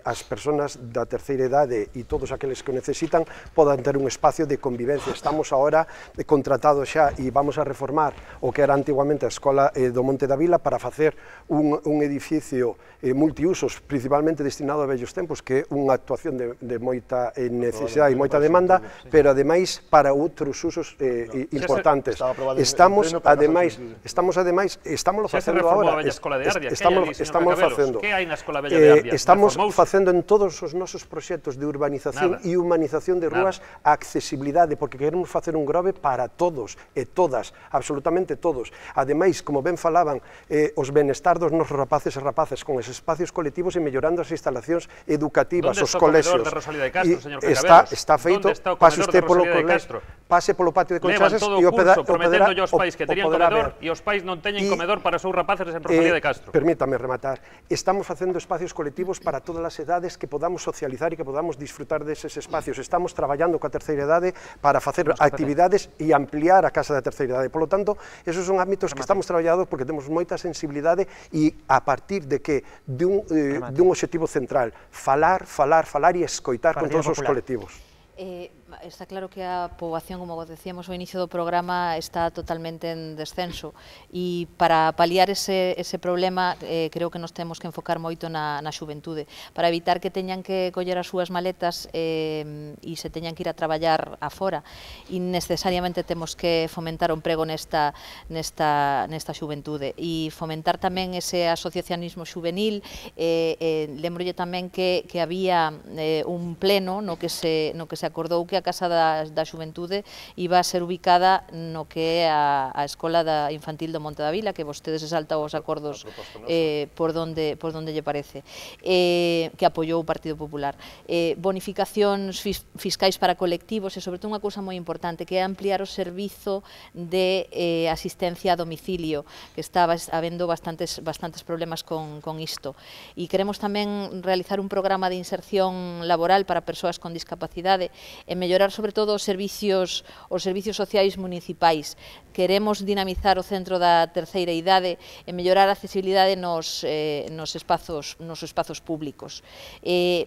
as persoas persoas da terceira idade e todos aqueles que o necesitan podan ter un espacio de convivencia. Estamos agora contratados xa e vamos a reformar o que era antiguamente a Escola do Monte da Vila para facer un edificio multiusos, principalmente destinado a vellos tempos, que é unha actuación de moita necesidade e moita demanda, pero ademais para outros usos importantes. Estamos facendo agora. Estamos facendo. Que hai na Escola Vella de Ardia? Estamos facendo en todos os nosos proxectos de urbanización e humanización de rúas a accesibilidade, porque queremos facer un Grove para todos e todas, absolutamente todos. Ademais, como ben falaban, os benestar dos nosos rapaces e rapazas con esos espacios colectivos e mellorando as instalacións educativas, os colexios. Onde está o comedor de Rosalía de Castro, señor Cacabelos? Está feito, pase usted polo patio de Conchases e o poderá ver. Prometendo aos pais que terían comedor e os pais non teñen comedor para os seus rapaces en Rosalía de Castro. Permítame rematar. Estamos facendo espacios colectivos para todas as edades que podamos socializar e que podamos disfrutar deses espacios. Estamos traballando coa terceira idade para facer actividades e ampliar a casa da terceira idade. Por lo tanto, esos son ámbitos que estamos traballando porque temos moita sensibilidade e a partir de que dun obxectivo central, falar e escoitar con todos os colectivos. Está claro que a poboación, como decíamos ao inicio do programa, está totalmente en descenso e para paliar ese problema creo que nos temos que enfocar moito na xuventude para evitar que teñan que coller as súas maletas e se teñan que ir a traballar afora e necesariamente temos que fomentar o emprego nesta xuventude e fomentar tamén ese asociacionismo juvenil. Lembrolle tamén que había un pleno no que se acordou que a Casa da Xuventude iba a ser ubicada no que é a Escola Infantil do Monte da Vila, que vostedes exaltan os acordos por donde lle parece, que apoiou o Partido Popular. Bonificacións fiscais para colectivos e, sobre todo, unha cousa moi importante, que é ampliar o servizo de asistencia a domicilio, que estaba habendo bastantes problemas con isto. E queremos tamén realizar un programa de inserción laboral para persoas con discapacidade e mellorar sobre todo os servicios sociais municipais. Queremos dinamizar o centro da terceira idade e mellorar a accesibilidade nos espazos públicos.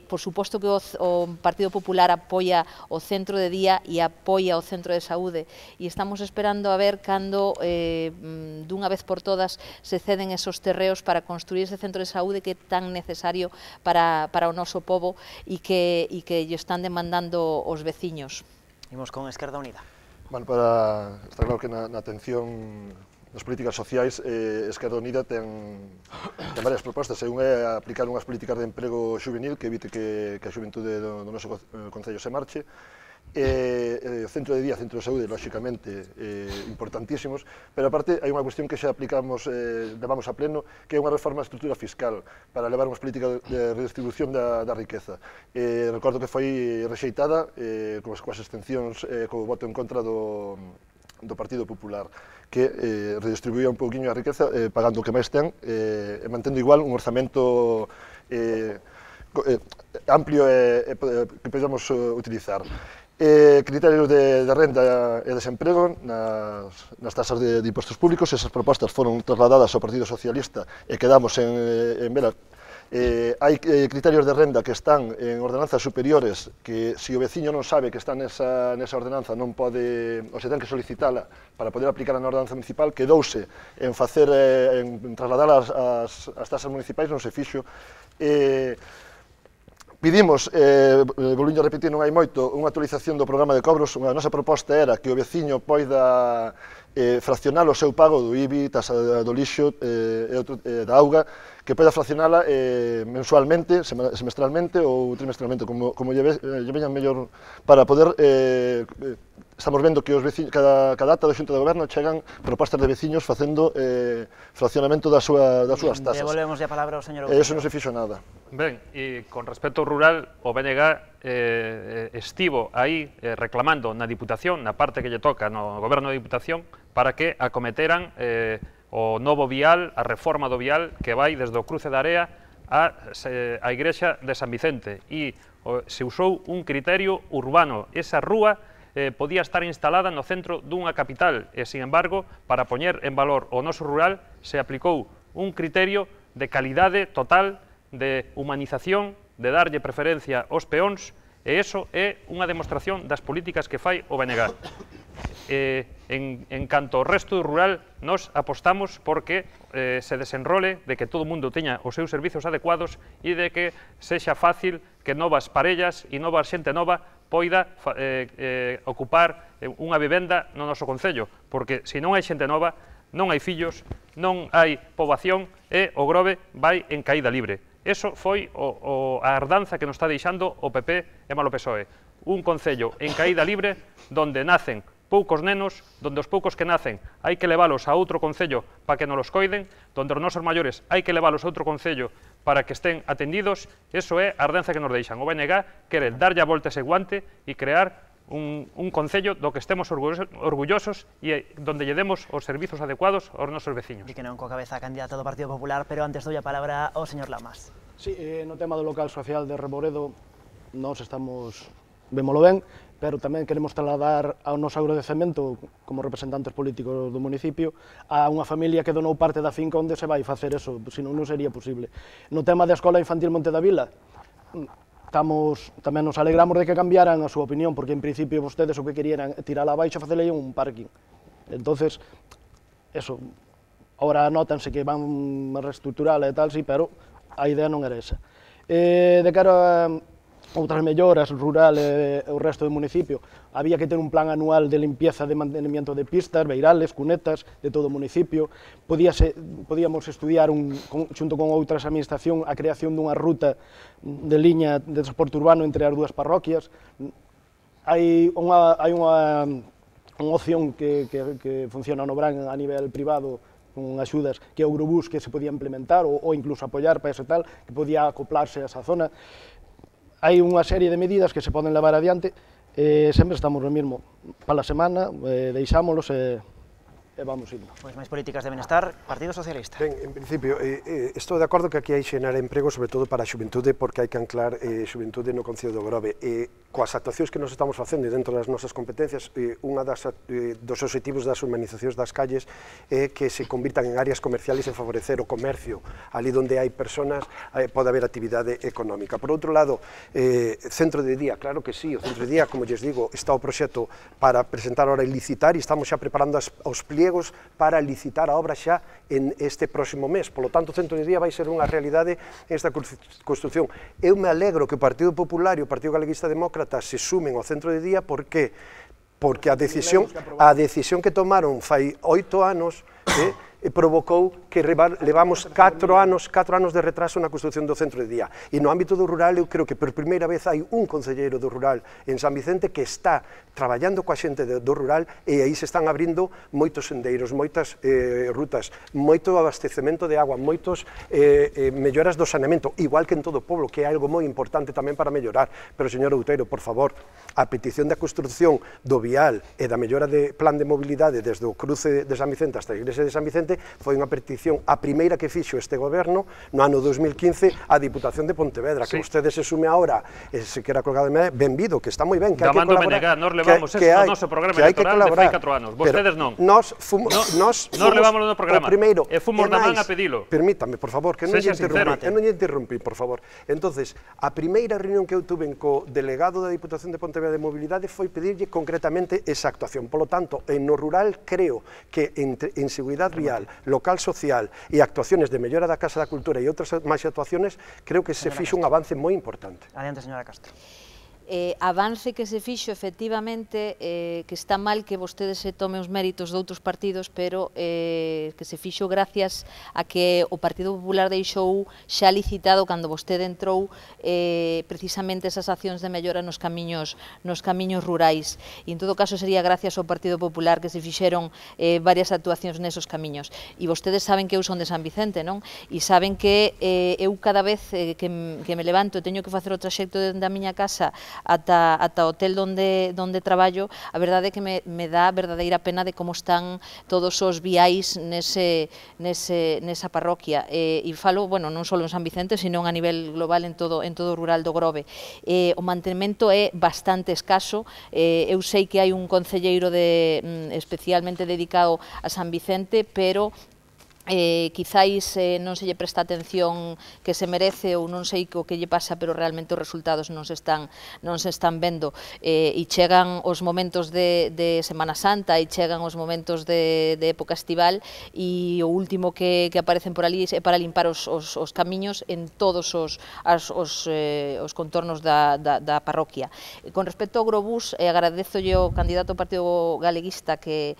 Por suposto que o Partido Popular apoia o centro de día e apoia o centro de saúde e estamos esperando a ver cando dunha vez por todas se ceden esos terreos para construir ese centro de saúde que é tan necesario para o noso pobo e que lle están demandando os veciños. Imos con Esquerda Unida. Bueno, está claro que na atención das políticas sociais, Esquerda Unida ten varias propostas. Unha é aplicar unhas políticas de emprego juvenil que evite que a xuventude do noso concello se marche. Centro de día, centro de saúde, lóxicamente, importantísimos, pero aparte hai unha cuestión que xa aplicamos, levamos a pleno, que é unha reforma da estrutura fiscal para levar unhas políticas de redistribución da riqueza. Recordo que foi rexeitada coas extensións, co voto en contra do Partido Popular, que redistribuía un pouquiño a riqueza pagando o que máis ten e mantendo igual un orzamento amplio que podemos utilizar. Criterios de renda e desemprego nas tasas de impostos públicos. Esas propostas foron trasladadas ao Partido Socialista e quedamos en velas. Hai criterios de renda que están en ordenanzas superiores que, se o veciño non sabe que está nesa ordenanza, non pode, ou se ten que solicitala para poder aplicar na ordenanza municipal. Quedouse en trasladar as tasas municipais, non se fixo. Pedimos, volvindo a repetir, non hai moito, unha actualización do programa de cobros. A nosa proposta era que o veciño poida fraccionar o seu pago do IBI, tasa do lixo e da auga, que poida fraccionala mensualmente, semestralmente ou trimestralmente, como lle veñan mellor, para poder... Estamos vendo que os veciños, cada ata do Xunta de Goberno chegan propostas de veciños facendo fraccionamento das súas tasas. Devolvemos a palabra ao señor Outeiro. Eso non se fixo nada. Ben, e con respecto ao rural, o BNG estivo aí reclamando na Diputación, na parte que lle toca no Goberno da Diputación, para que acometeran o novo vial, a reforma do vial que vai desde o cruce da Area á Igrexa de San Vicente, e se usou un criterio urbano. Esa rúa podía estar instalada no centro dunha capital e, sin embargo, para poñer en valor o noso rural, se aplicou un criterio de calidade total, de humanización de darlle preferencia aos peóns, e iso é unha demostración das políticas que fai o BNG. En canto ao resto rural, nos apostamos porque se desenrole de que todo o mundo teña os seus servizos adecuados e de que sexa fácil que novas parellas e nova xente nova poida ocupar unha vivenda no noso concello, porque se non hai xente nova, non hai fillos, non hai poboación e o Grove vai en caída libre. Eso foi a ardanza que nos está deixando o PP e malo PSOE. Un concello en caída libre donde nacen poucos nenos, donde os poucos que nacen hai que leválos a outro concello para que non los coiden, donde os nosos maiores hai que leválos a outro concello para que estén atendidos. Eso é a ardanza que nos deixan. O BNG quere darlle a volta ese guante e crear un concello do que estemos orgullosos e donde lle demos os servizos adecuados aos nosos veciños. Di que non co cabeza candidato do Partido Popular, pero antes doi a palabra ao señor Lamas. Sí, no tema do local social de Reboredo, nós estamos, vémolo ben, pero tamén queremos trasladar ao noso agradecemento como representantes políticos do municipio a unha familia que donou parte da finca onde se vai facer eso, senón non sería posible. No tema da Escola Infantil Monte da Vila, tamén nos alegramos de que cambiaran a súa opinión, porque en principio vostedes o que querían tirala abaixo e facele un parking. Entonces, eso, ahora notanse que van a reestructurala e tal, sí, pero a idea non era esa. De cara a outras melloras rural e o resto do municipio, había que ter un plan anual de limpieza de mantenimiento de pistas, beirales, cunetas, de todo o municipio. Podíamos estudiar, xunto con outras administracións, a creación dunha ruta de liña de transporte urbano entre as dúas parroquias. Hai unha opción que funciona no Bran a nivel privado, con axudas, que é o Eurobús, que se podía implementar ou incluso apoiar para ese tal, que podía acoplarse a esa zona. Hai unha serie de medidas que se poden levar adiante, sempre estamos no mesmo. Para a semana, deixámolos e vamos indo. Pois máis políticas deben estar, Partido Socialista. Ben, en principio, estou de acordo que aquí hai xenar emprego, sobre todo para a xuventude, porque hai que anclar xuventude no Concello do Grove. Coas actuacións que nos estamos facendo dentro das nosas competencias, unha dos obxectivos das urbanizacións das calles é que se convirtan en áreas comerciales e favorecer o comercio. Ali onde hai personas pode haber actividade económica. Por outro lado, centro de día, claro que sí, o centro de día, como lles digo, está o proxecto para presentar ahora e licitar, e estamos xa preparando os pliegos para licitar a obra xa en este próximo mes. Por lo tanto, o centro de día vai ser unha realidade esta construción. Eu me alegro que o Partido Popular e o Partido Galeguista Demócrata se sumen ao centro de día, porque a decisión que tomaron fai 8 anos provocou que levamos 4 anos de retraso na construción do centro de día. E no ámbito do rural, eu creo que por primeira vez hai un concelleiro do rural en San Vicente que está traballando coa xente do rural, e aí se están abrindo moitos sendeiros, moitas rutas, moito abastecemento de agua, moitos melloras do saneamento, igual que en todo o pobo, que é algo moi importante tamén para mellorar. Pero, señor Outeiro, por favor, a petición da construción do vial e da mellora de plan de mobilidade desde o cruce de San Vicente hasta a igrexa de San Vicente foi unha petición, a primeira que fixo este goberno no ano 2015 a Diputación de Pontevedra, que ustedes se sume ahora, se quera colgar de medida, benvido, que está moi ben, que hai que colaborar. Nos levamos eso no noso programa electoral de fai 4 anos, vostedes non. Nos levamos no programa, e fomos na man a pedilo. Permítame, por favor, que non lle interrumpí, por favor. Entonces, a primeira reunión que eu tuve co delegado da Diputación de Pontevedra de Mobilidade foi pedirlle concretamente esa actuación. Por lo tanto, en no rural creo que en seguridade vial, local social e actuaciones de mellora da Casa da Cultura e outras máis actuaciones, creo que se fixo un avance moi importante. Adiante, señora Castro. Avance que se fixo efectivamente, que está mal que vostedes se tomen os méritos de outros partidos, pero que se fixo gracias a que o Partido Popular deixou xa licitado cando vostede entrou precisamente esas accións de mellora nos camiños rurais, e en todo caso sería gracias ao Partido Popular que se fixeron varias actuacións nesos camiños. E vostedes saben que eu son de San Vicente, non? E saben que eu cada vez que me levanto e teño que facer o traxecto da miña casa ata o hotel donde traballo, a verdade é que me dá verdadeira pena de como están todos os viais nesa parroquia, e falo, bueno, non só en San Vicente, sino a nivel global en todo o rural do Grove. O mantemento é bastante escaso, eu sei que hai un concelleiro especialmente dedicado a San Vicente, pero quizáis non se lle presta atención que se merece ou non sei o que lle pasa, pero realmente os resultados non se están vendo, e chegan os momentos de Semana Santa e chegan os momentos de época estival e o último que aparecen por ali é para limpar os camiños en todos os contornos da parroquia. Con respecto ao Grobús, agradezolle ao candidato ao Partido Galeguista que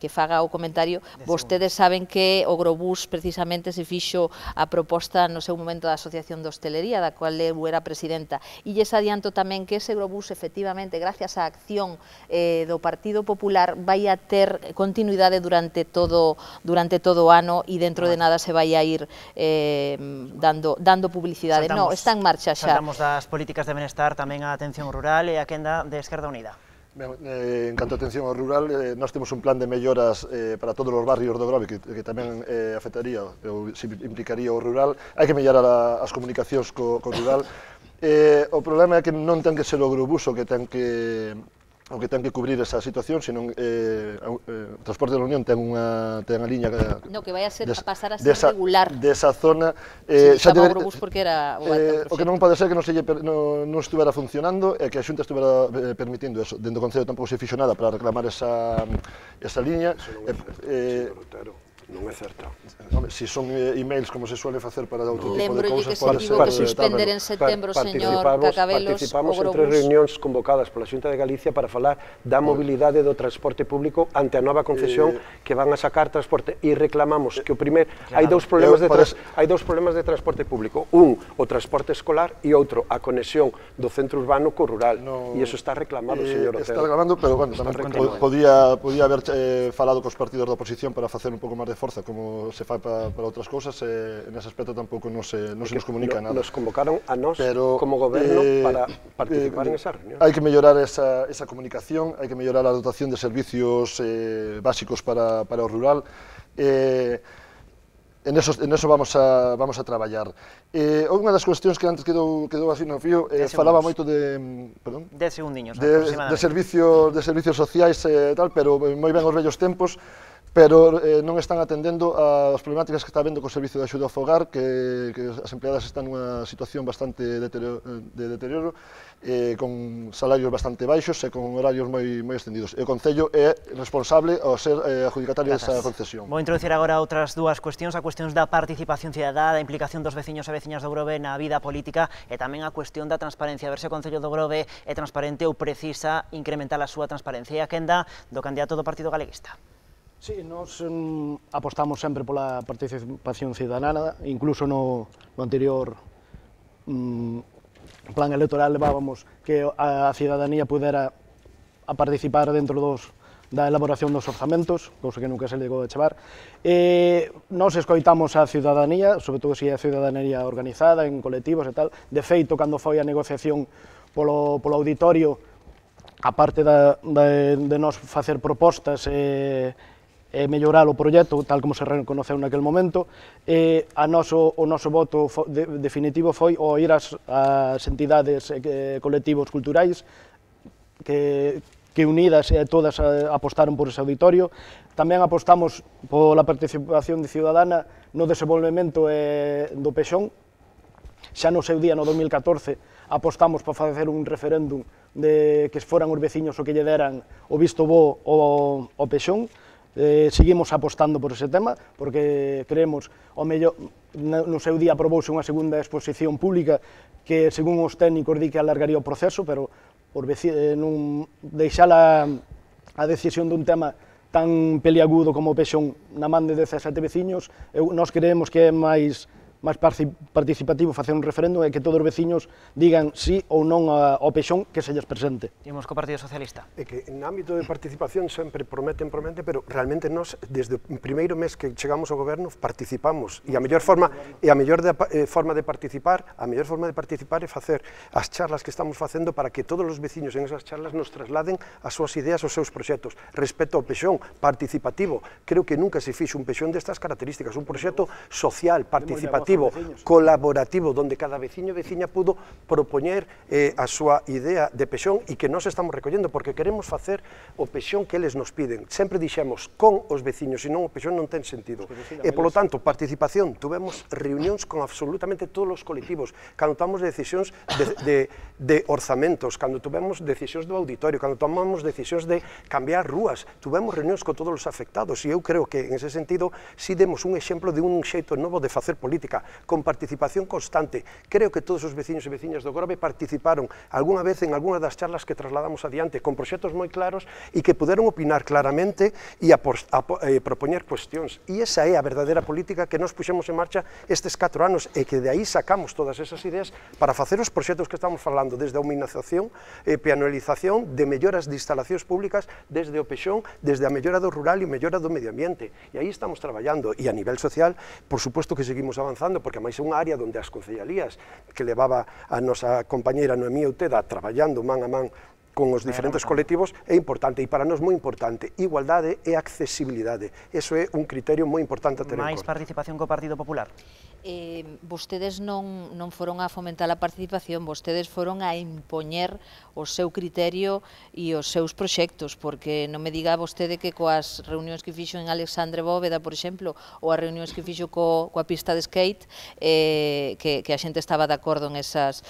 faga o comentario. Vostedes saben que o Grobús precisamente se fixo a proposta no seu momento da Asociación de Hostelería, da cual eu era presidenta, e lles adianto tamén que ese Grobús, efectivamente, gracias á acción do Partido Popular, vai a ter continuidade durante todo o ano e dentro de nada se vai a ir dando publicidade. Non, está en marcha xa. Saltamos das políticas de benestar tamén a atención rural e a quenda de Esquerda Unida. En canto a atención ao rural, nós temos un plan de melloras para todos os barrios do Grove que tamén afectaría ou implicaría o rural. Hai que mellorar as comunicacións co rural. O problema é que non ten que ser o Grobús o que ten que cubrir esa situación, senón o Transporte da Unión ten unha liña que vai a pasar a ser regular desa zona. Chama o Grobús porque era o que non pode ser que non estuvera funcionando e que a Xunta estuvera permitindo eso. Dentro do Concello tampouco se fixo nada para reclamar esa liña. Non é certo. Se son emails como se suele facer para outro tipo de cousas, que se tivo que suspender en setembro, señor Cacabelos, participamos en 3 reunións convocadas pola Xunta de Galicia para falar da mobilidade do transporte público ante a nova concesión que van a sacar transporte, e reclamamos que o primeiro hai dous problemas de transporte público, o transporte escolar e outro a conexión do centro urbano co rural, e iso está reclamado, señor Otero. Está reclamando, pero bueno, tamén podía haber falado cos partidos da oposición para facer un pouco máis de forza, como se fai para outras cousas, nese aspecto tampouco non se nos comunica nada. Nos convocaron a nós como goberno para participar en esa reunión. Hai que mellorar esa comunicación, hai que mellorar a dotación de servicios básicos para o rural. En eso vamos a traballar. Unha das cuestións que antes quedou así no fío, falaba moito de... Perdón? 10 segundiños De aproximadamente. servicios sociais e tal, pero moi ben os vellos tempos, pero non están atendendo as problemáticas que está habendo co servicio de axuda ao fogar, que as empleadas están nunha situación bastante de deterioro, con salarios bastante baixos e con horarios moi extendidos. E o Concello é responsable ao ser adjudicatario desa concesión. Vou introducir agora outras dúas cuestións, a cuestión da participación cidadá, da implicación dos veciños e veciñas do Grove na vida política e tamén a cuestión da transparencia, a ver se o Concello do Grove é transparente ou precisa incrementar a súa transparencia. E a quenda do candidato do Partido Galeguista. Sí, nos apostamos sempre pola participación cidadana, incluso no anterior plan electoral levábamos que a cidadanía pudera a participar dentro da elaboración dos orzamentos, cousa que nunca se le chegou a chevar. Nos escoitamos a cidadanía, sobre todo se é a cidadanía organizada en colectivos e tal. De feito, cando foi a negociación polo auditorio, a parte de nos facer propostas e mellorar o proxecto, tal como se reconoceu naquel momento, o noso voto definitivo foi o ir ás entidades e colectivos culturais que unidas e todas apostaron por ese auditorio. Tamén apostamos pola participación ciudadana no desenvolvemento do Pexón. Xa no seu día, no 2014, apostamos por facer un referéndum de que foran os veciños o que lle deran o visto bo ao Pexón. Seguimos apostando por ese tema, porque creemos, o mellor, no seu día aprobouse unha segunda exposición pública que, según os técnicos, di que alargaría o proceso, pero por deixar a decisión dun tema tan peliagudo como o Pexón na man de 17 veciños, nós creemos que é máis participativo facer un referéndum e que todos os veciños digan sí ou non ao Pexón que se lles presente. Imos co Partido Socialista. É que en ámbito de participación sempre prometen, pero realmente nós, desde o primeiro mes que chegamos ao goberno, participamos, e a mellor forma de participar é facer as charlas que estamos facendo para que todos os veciños en esas charlas nos trasladen as súas ideas, os seus proxectos. Respecto ao Pexón participativo, creo que nunca se fixo un Pexón destas características, un proxecto social, participativo, participativo, colaborativo, donde cada veciño e veciña pudo propoñer a súa idea de pexón e que nós estamos recollendo, porque queremos facer o pexón que eles nos piden. Sempre dixemos con os veciños, senón o pexón non ten sentido. E, polo tanto, participación, tuvemos reunións con absolutamente todos os colectivos, cando tomamos decisións de orzamentos, cando tuvemos decisións do auditorio, cando tomamos decisións de cambiar rúas, tuvemos reunións con todos os afectados, e eu creo que, en ese sentido, si demos un exemplo de un xeito novo de facer política, con participación constante. Creo que todos os veciños e veciñas do Grove participaron algunha vez en algunha das charlas que trasladamos adiante, con proxectos moi claros e que puderon opinar claramente e propoñer cuestións. E esa é a verdadeira política que nos puxemos en marcha estes 4 anos e que de aí sacamos todas esas ideas para facer os proxectos que estamos falando, desde a humanización e peatonalización, de melloras de instalacións públicas, desde o pexón, desde a mellora do rural e mellora do medio ambiente. E aí estamos traballando. E a nivel social, por suposto que seguimos avanzando, porque máis é unha área onde as concellalías que levaba a nosa compañeira Noemí Outeda traballando man a man con os diferentes colectivos é importante, e para nós moi importante. Igualdade e accesibilidade. Eso é un criterio moi importante a ter en conta. Máis participación co Partido Popular? Vostedes non foron a fomentar a participación, vostedes foron a impoñer o seu criterio e os seus proxectos, porque non me diga vostede que coas reunións que fixo en Alexandre Bóveda, por exemplo, ou as reunións que fixo coa pista de skate, que a xente estaba de acordo en esas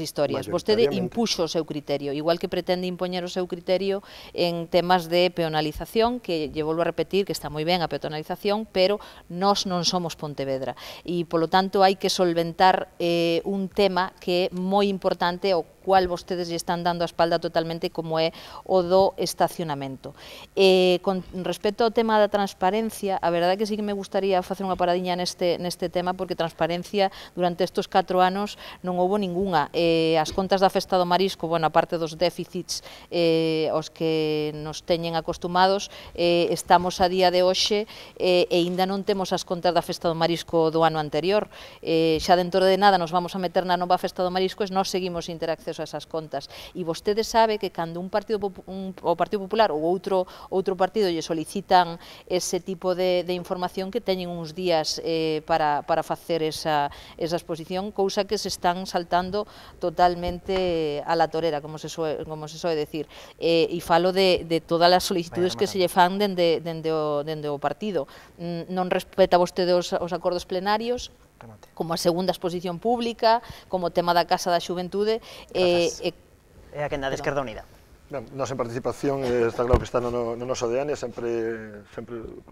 historias. Vostede impuxo o seu criterio, igual que pretende impoñer o seu criterio en temas de peonalización, que lle volvo a repetir que está moi ben a peonalización, pero nós non somos Pontevedra. E, polo tanto, hai que solventar un tema que é moi importante, o cual vostedes lle están dando a espalda totalmente, como é o do estacionamento. Con respecto ao tema da transparencia, a verdade é que sí que me gustaría facer unha paradiña neste tema, porque transparencia durante estes 4 anos non houbo ninguna. As contas da Festa do Marisco, bueno, a parte dos déficits aos que nos teñen acostumados, estamos a día de hoxe e ainda non temos as contas da Festa do Marisco do ano anterior. Xa dentro de nada nos vamos a meter na nova Festa do Marisco e nós seguimos sin ter acceso a esas contas. E vostede sabe que cando o Partido Popular ou outro partido lle solicitan ese tipo de información, que teñen uns días para facer esa exposición, cousa que se están saltando totalmente a la torera, como se soe decir. E falo de todas as solicitudes que se lle fan dende o partido. Non respeta vostede os acordos plenarios, como a segunda exposición pública, como o tema da Casa da Xuventude. É a quenda de Esquerda Unida. Nós en participación está claro que está no noso ADN, sempre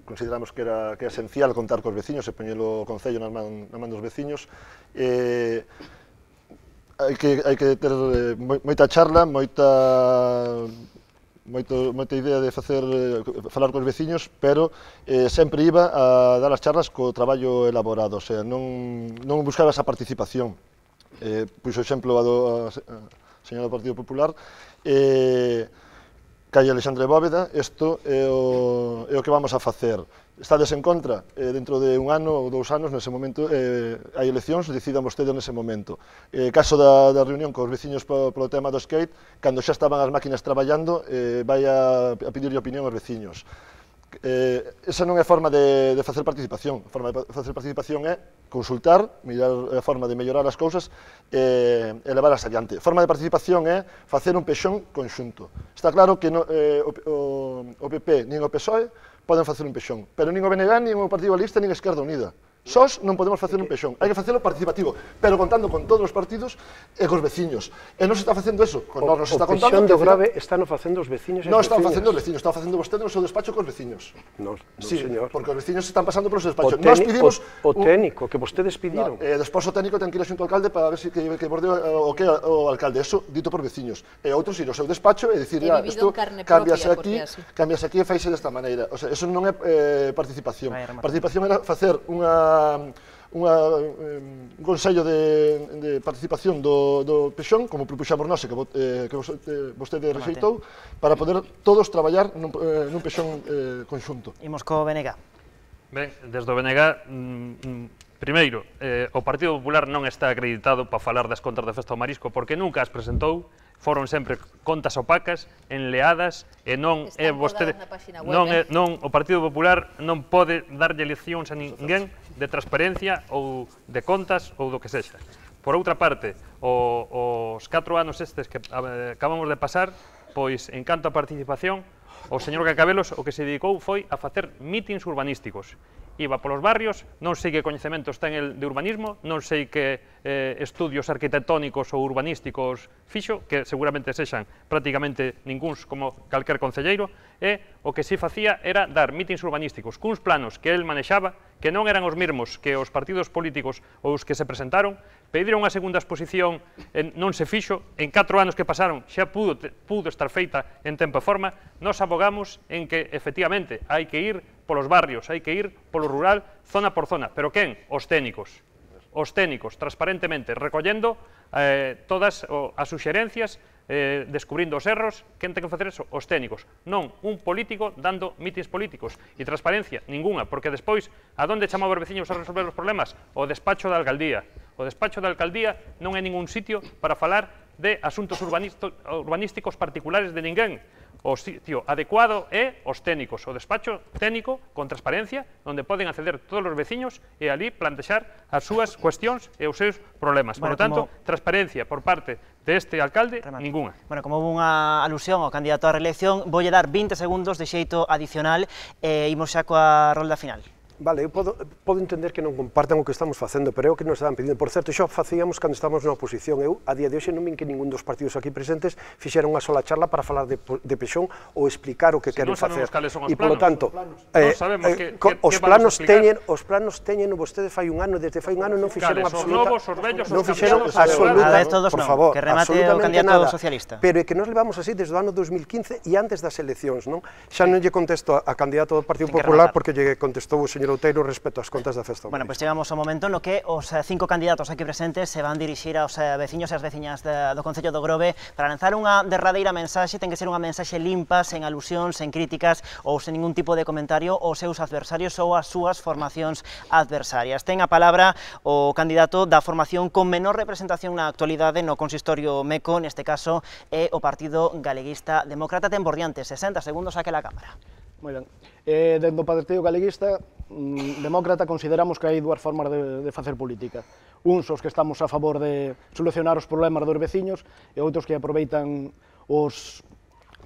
consideramos que é esencial contar cos veciños e poñelo o Concello na man dos veciños. Hai que ter moita charla, moita idea de falar cos veciños, pero sempre iba a dar as charlas co traballo elaborado, o sea, non buscaba esa participación. Puxo exemplo a señora do Partido Popular, calle Alexandre Bóveda, isto é o que vamos a facer. Estades en contra, dentro de un ano ou 2 anos, nese momento, hai eleccións, decidan vostedes nese momento. Caso da reunión cos veciños polo tema do skate, cando xa estaban as máquinas traballando, vai a pedirlle opinión aos veciños. Esa non é forma de facer participación. A forma de facer participación é consultar, mirar a forma de mellorar as cousas e levar as adiante. A forma de participación é facer un pexón conxunto. Está claro que o PP nin o PSOE poden facer un pexón, pero nin o BNG, nin o Partido Socialista, nin a Esquerda Unida. Sós non podemos facer un pexón, hai que facelo participativo, pero contando con todos os partidos e cos veciños. E non se está facendo eso, con nós nos está contando... O pexón do Grove están facendo os veciños e as veciñas. Non están facendo os veciños, están facendo vostede no seu despacho cos veciños. Non, sí, señor. Porque os veciños están pasando polos despachos. Nós pedimos... O técnico, que vostedes pediron. Despois o técnico ten que ir xunto ao alcalde para ver se que bordeo o que o alcalde. Eso dito por veciños. E outros ir ao seu despacho e dicir, isto cambiase aquí e faise desta maneira. O sea, eso non é participación. Participación era facer un consello de participación do pexón, como propuxamos nós e que vostede rexeitou, para poder todos traballar nun pexón conxunto. Imos co BNG. Ben, desde o BNG, primeiro, o Partido Popular non está acreditado para falar das contas da Festa do Marisco porque nunca as presentou foron sempre contas opacas, enleadas, e non é vostede, non o Partido Popular non pode darlle leccións a ninguén de transparencia ou de contas ou do que sexa. Por outra parte, os 4 anos estes que acabamos de pasar, pois, en canto a participación, o señor Cacabelos o que se dedicou foi a facer mítins urbanísticos. Iba polos barrios, non sei que coñecementos ten el de urbanismo, non sei que estudios arquitectónicos ou urbanísticos fixo, que seguramente sexan prácticamente ningúns como calquer concelleiro, e o que si facía era dar mítins urbanísticos cuns planos que el manexaba, que non eran os mesmos que os partidos políticos ou os que se presentaron, pediron unha segunda exposición, non se fixo, en 4 anos que pasaron xa pudo estar feita en tempo e forma. Nos abogamos en que, efectivamente, hai que ir polos barrios, hai que ir polo rural, zona por zona. Pero quen? Os técnicos, transparentemente, recollendo todas as suxerencias, descubrindo os erros. Quen ten que facer eso? Os técnicos, non un político dando mítins políticos. E transparencia, ninguna, porque despois, a donde chamaba os veciños a resolver os problemas? O despacho da alcaldía. O despacho da alcaldía non é ningún sitio para falar de asuntos urbanísticos particulares de ninguén. O sitio adecuado é os técnicos, o despacho técnico con transparencia, onde poden acceder todos os veciños e ali plantexar as súas cuestións e os seus problemas. Por lo tanto, transparencia por parte deste alcalde, ninguna. Bueno, como houve unha alusión ao candidato á reelección, voulle dar 20 segundos de xeito adicional e imos xa coa rolda final. Vale, eu podo entender que non compartan o que estamos facendo, pero é o que nos estaban pedindo. Por certo, xo facíamos cando estábamos na oposición. Eu, a día de hoxe, non vin que ningún dos partidos aquí presentes fixeron unha sola charla para falar de Pexón ou explicar o que queren facer. E, polo tanto, os planos teñen vostede fai un ano, desde fai un ano non fixeron absolutamente, por favor, absolutamente nada. Pero é que nos levamos así desde o ano 2015 e antes das eleccións, non? Xa non lle contesto a candidato do Partido Popular porque lle contestou o señor Outeiro respecto ás contas da festa. Bueno, pois chegamos ao momento no que os 5 candidatos aquí presentes se van dirixir aos veciños e as veciñas do Concello do Grove para lanzar unha derradeira mensaxe. Ten que ser unha mensaxe limpa, sen alusións, sen críticas ou sen ningún tipo de comentario aos seus adversarios ou ás súas formacións adversarias. Ten a palabra o candidato da formación con menor representación na actualidade no consistorio Meco, neste caso é o Partido Galeguista Demócrata. Ten por diante 60 segundos aquela cámara. Moi ben. Dentro do Partido Galeguista Demócrata consideramos que hai dúas formas de facer política. Uns os que estamos a favor de solucionar os problemas dos veciños e outros que aproveitan os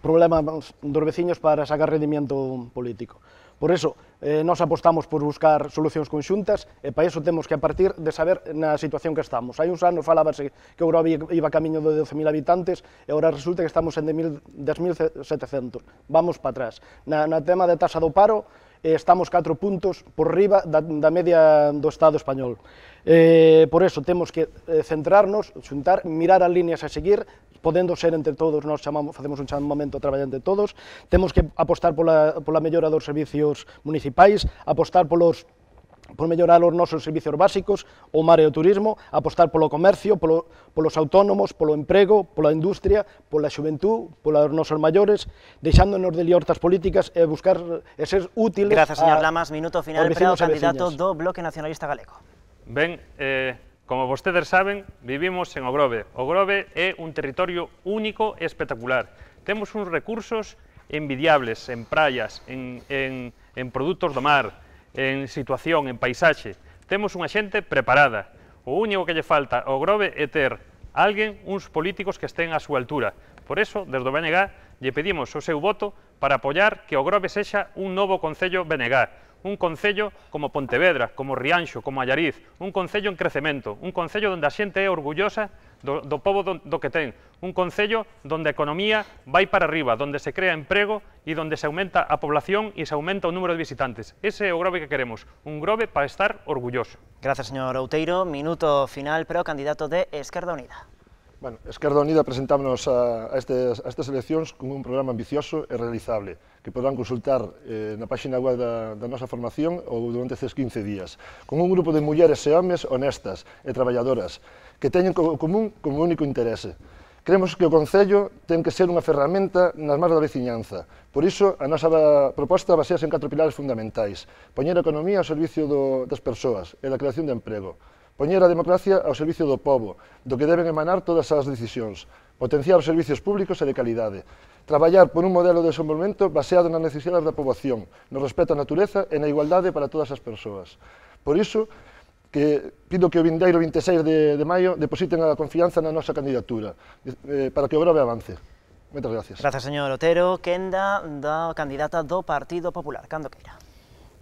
problemas dos veciños para sacar rendimiento político. Por iso, nós apostamos por buscar solucións conxuntas e para iso temos que a partir de saber na situación que estamos. Hai uns anos falábase que o Grove iba camiño de 12.000 habitantes e agora resulta que estamos en 10.700. Vamos para atrás. Na tema de taxa do paro, estamos 4 puntos por riba da media do Estado español. Por iso temos que centrarnos, xuntar, mirar as líneas a seguir, podendo ser entre todos, nós facemos un chamamento a traballar entre todos, temos que apostar pola mellora dos servicios municipais, apostar por mellorar os nosos servicios básicos, o mar e o turismo, apostar polo comercio, polos autónomos, polo emprego, pola industria, pola xuventud, polos nosos maiores, deixándonos de liortas políticas e buscar e ser útiles. Gracias, señor Lamas. Minuto final para o candidato do Bloque Nacionalista Galego. Ben, como vostedes saben, vivimos en O Grove. O Grove é un territorio único e espectacular. Temos uns recursos envidiables en praias, en produtos do mar, en situación, en paisaxe. Temos unha xente preparada. O único que lle falta ao Grove é ter alguén, uns políticos que estén á súa altura. Por eso, desde o BNG, lle pedimos o seu voto para apoiar que o Grove sexa un novo Concello BNG. Un concello como Pontevedra, como Rianxo, como Allariz, un concello en crecemento, un concello onde a xente é orgullosa do pobo do que ten, un concello onde a economía vai para arriba, onde se crea emprego e onde se aumenta a población e se aumenta o número de visitantes. Ese é o Grove que queremos, un Grove para estar orgulloso. Gracias, señor Outeiro. Minuto final para o candidato de Esquerda Unida. Bueno, Esquerda Unida presentámonos a estas eleccións con un programa ambicioso e realizable que podrán consultar na página web da nosa formación ou durante estes 15 días, con un grupo de mulleres e homes honestas e traballadoras que teñen como común como único interese. Creemos que o Concello ten que ser unha ferramenta nas mans da veciñanza. Por iso, a nosa proposta basease en 4 pilares fundamentais: poñer a economía ao servicio das persoas e da creación de emprego, poñer a democracia ao servicio do pobo, do que deben emanar todas as decisións, potenciar os servicios públicos e de calidade, traballar por un modelo de desenvolvemento baseado nas necesidades da poboación, no respeto á natureza e na igualdade para todas as persoas. Por iso, que pido que o vindeiro 26 de maio depositen a confianza na nosa candidatura, para que o Grove avance. Moitas gracias. Grazas, señor Otero. Quenda da candidata do Partido Popular. Cando queira.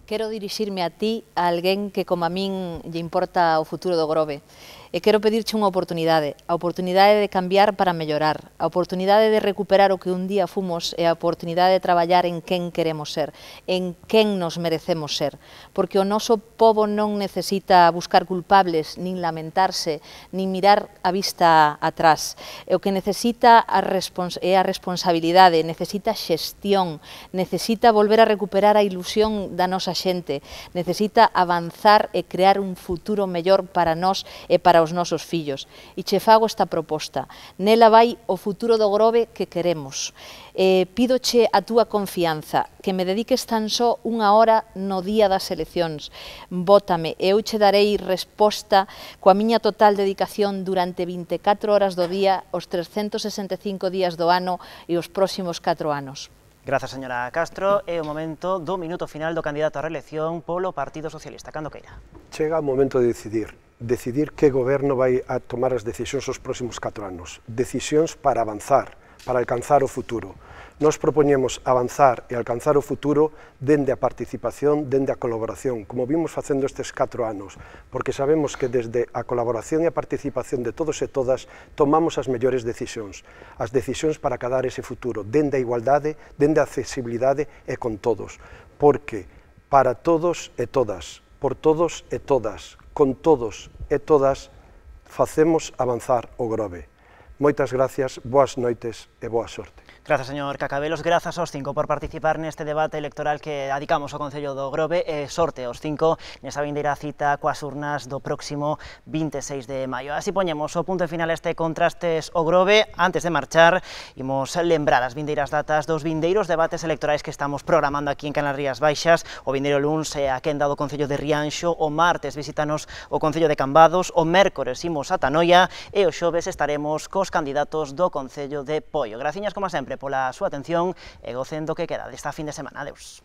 Quero dirixirme a ti, a alguén que como a min lle importa o futuro do Grove. E quero pedirche unha oportunidade, a oportunidade de cambiar para mellorar, a oportunidade de recuperar o que un día fomos e a oportunidade de traballar en quen queremos ser, en quen nos merecemos ser. Porque o noso pobo non necesita buscar culpables, nin lamentarse, nin mirar a vista atrás. E o que necesita é a responsabilidade, necesita xestión, necesita volver a recuperar a ilusión da nosa xente, necesita avanzar e crear un futuro mellor para nós e para os nosos fillos. E che fago esta proposta. Nela vai o futuro do Grove que queremos. Pídoche a túa confianza, que me dediques tan só unha hora no día das eleccións. Vótame e eu che darei resposta coa miña total dedicación durante 24 horas do día, os 365 días do ano e os próximos 4 anos. Grazas, señora Castro. É o momento do minuto final do candidato a reelección polo Partido Socialista. Cando queira. Chega o momento de decidir que goberno vai a tomar as decisións os próximos 4 anos. Decisións para avanzar, para alcanzar o futuro. Nós propoñemos avanzar e alcanzar o futuro dende a participación, dende a colaboración, como vimos facendo estes 4 anos, porque sabemos que desde a colaboración e a participación de todos e todas tomamos as mellores decisións, as decisións para acadar ese futuro, dende a igualdade, dende a accesibilidade e con todos, porque para todos e todas, por todos e todas, con todos e todas, facemos avanzar o Grove. Moitas gracias, boas noites e boa sorte. Grazas, señor Cacabelos, grazas aos 5 por participar neste debate electoral que adicamos ao Concello do Grove e sorte aos 5 nesa vindeira cita coas urnas do próximo 26 de maio. Así poñemos o punto final a este Contrastes o Grove. Antes de marchar, imos lembrar as vindeiras datas dos vindeiros debates electorais que estamos programando aquí en Canlas Rías Baixas. O vindeiro luns é a quenda do Concello de Rianxo, o martes visítanos o Concello de Cambados, o mércores imos a Tanoia e o xoves estaremos cos candidatos do Concello de Poio. Graciñas, como sempre, pola súa atención e gocen do que queda desta fin de semana. Adeus.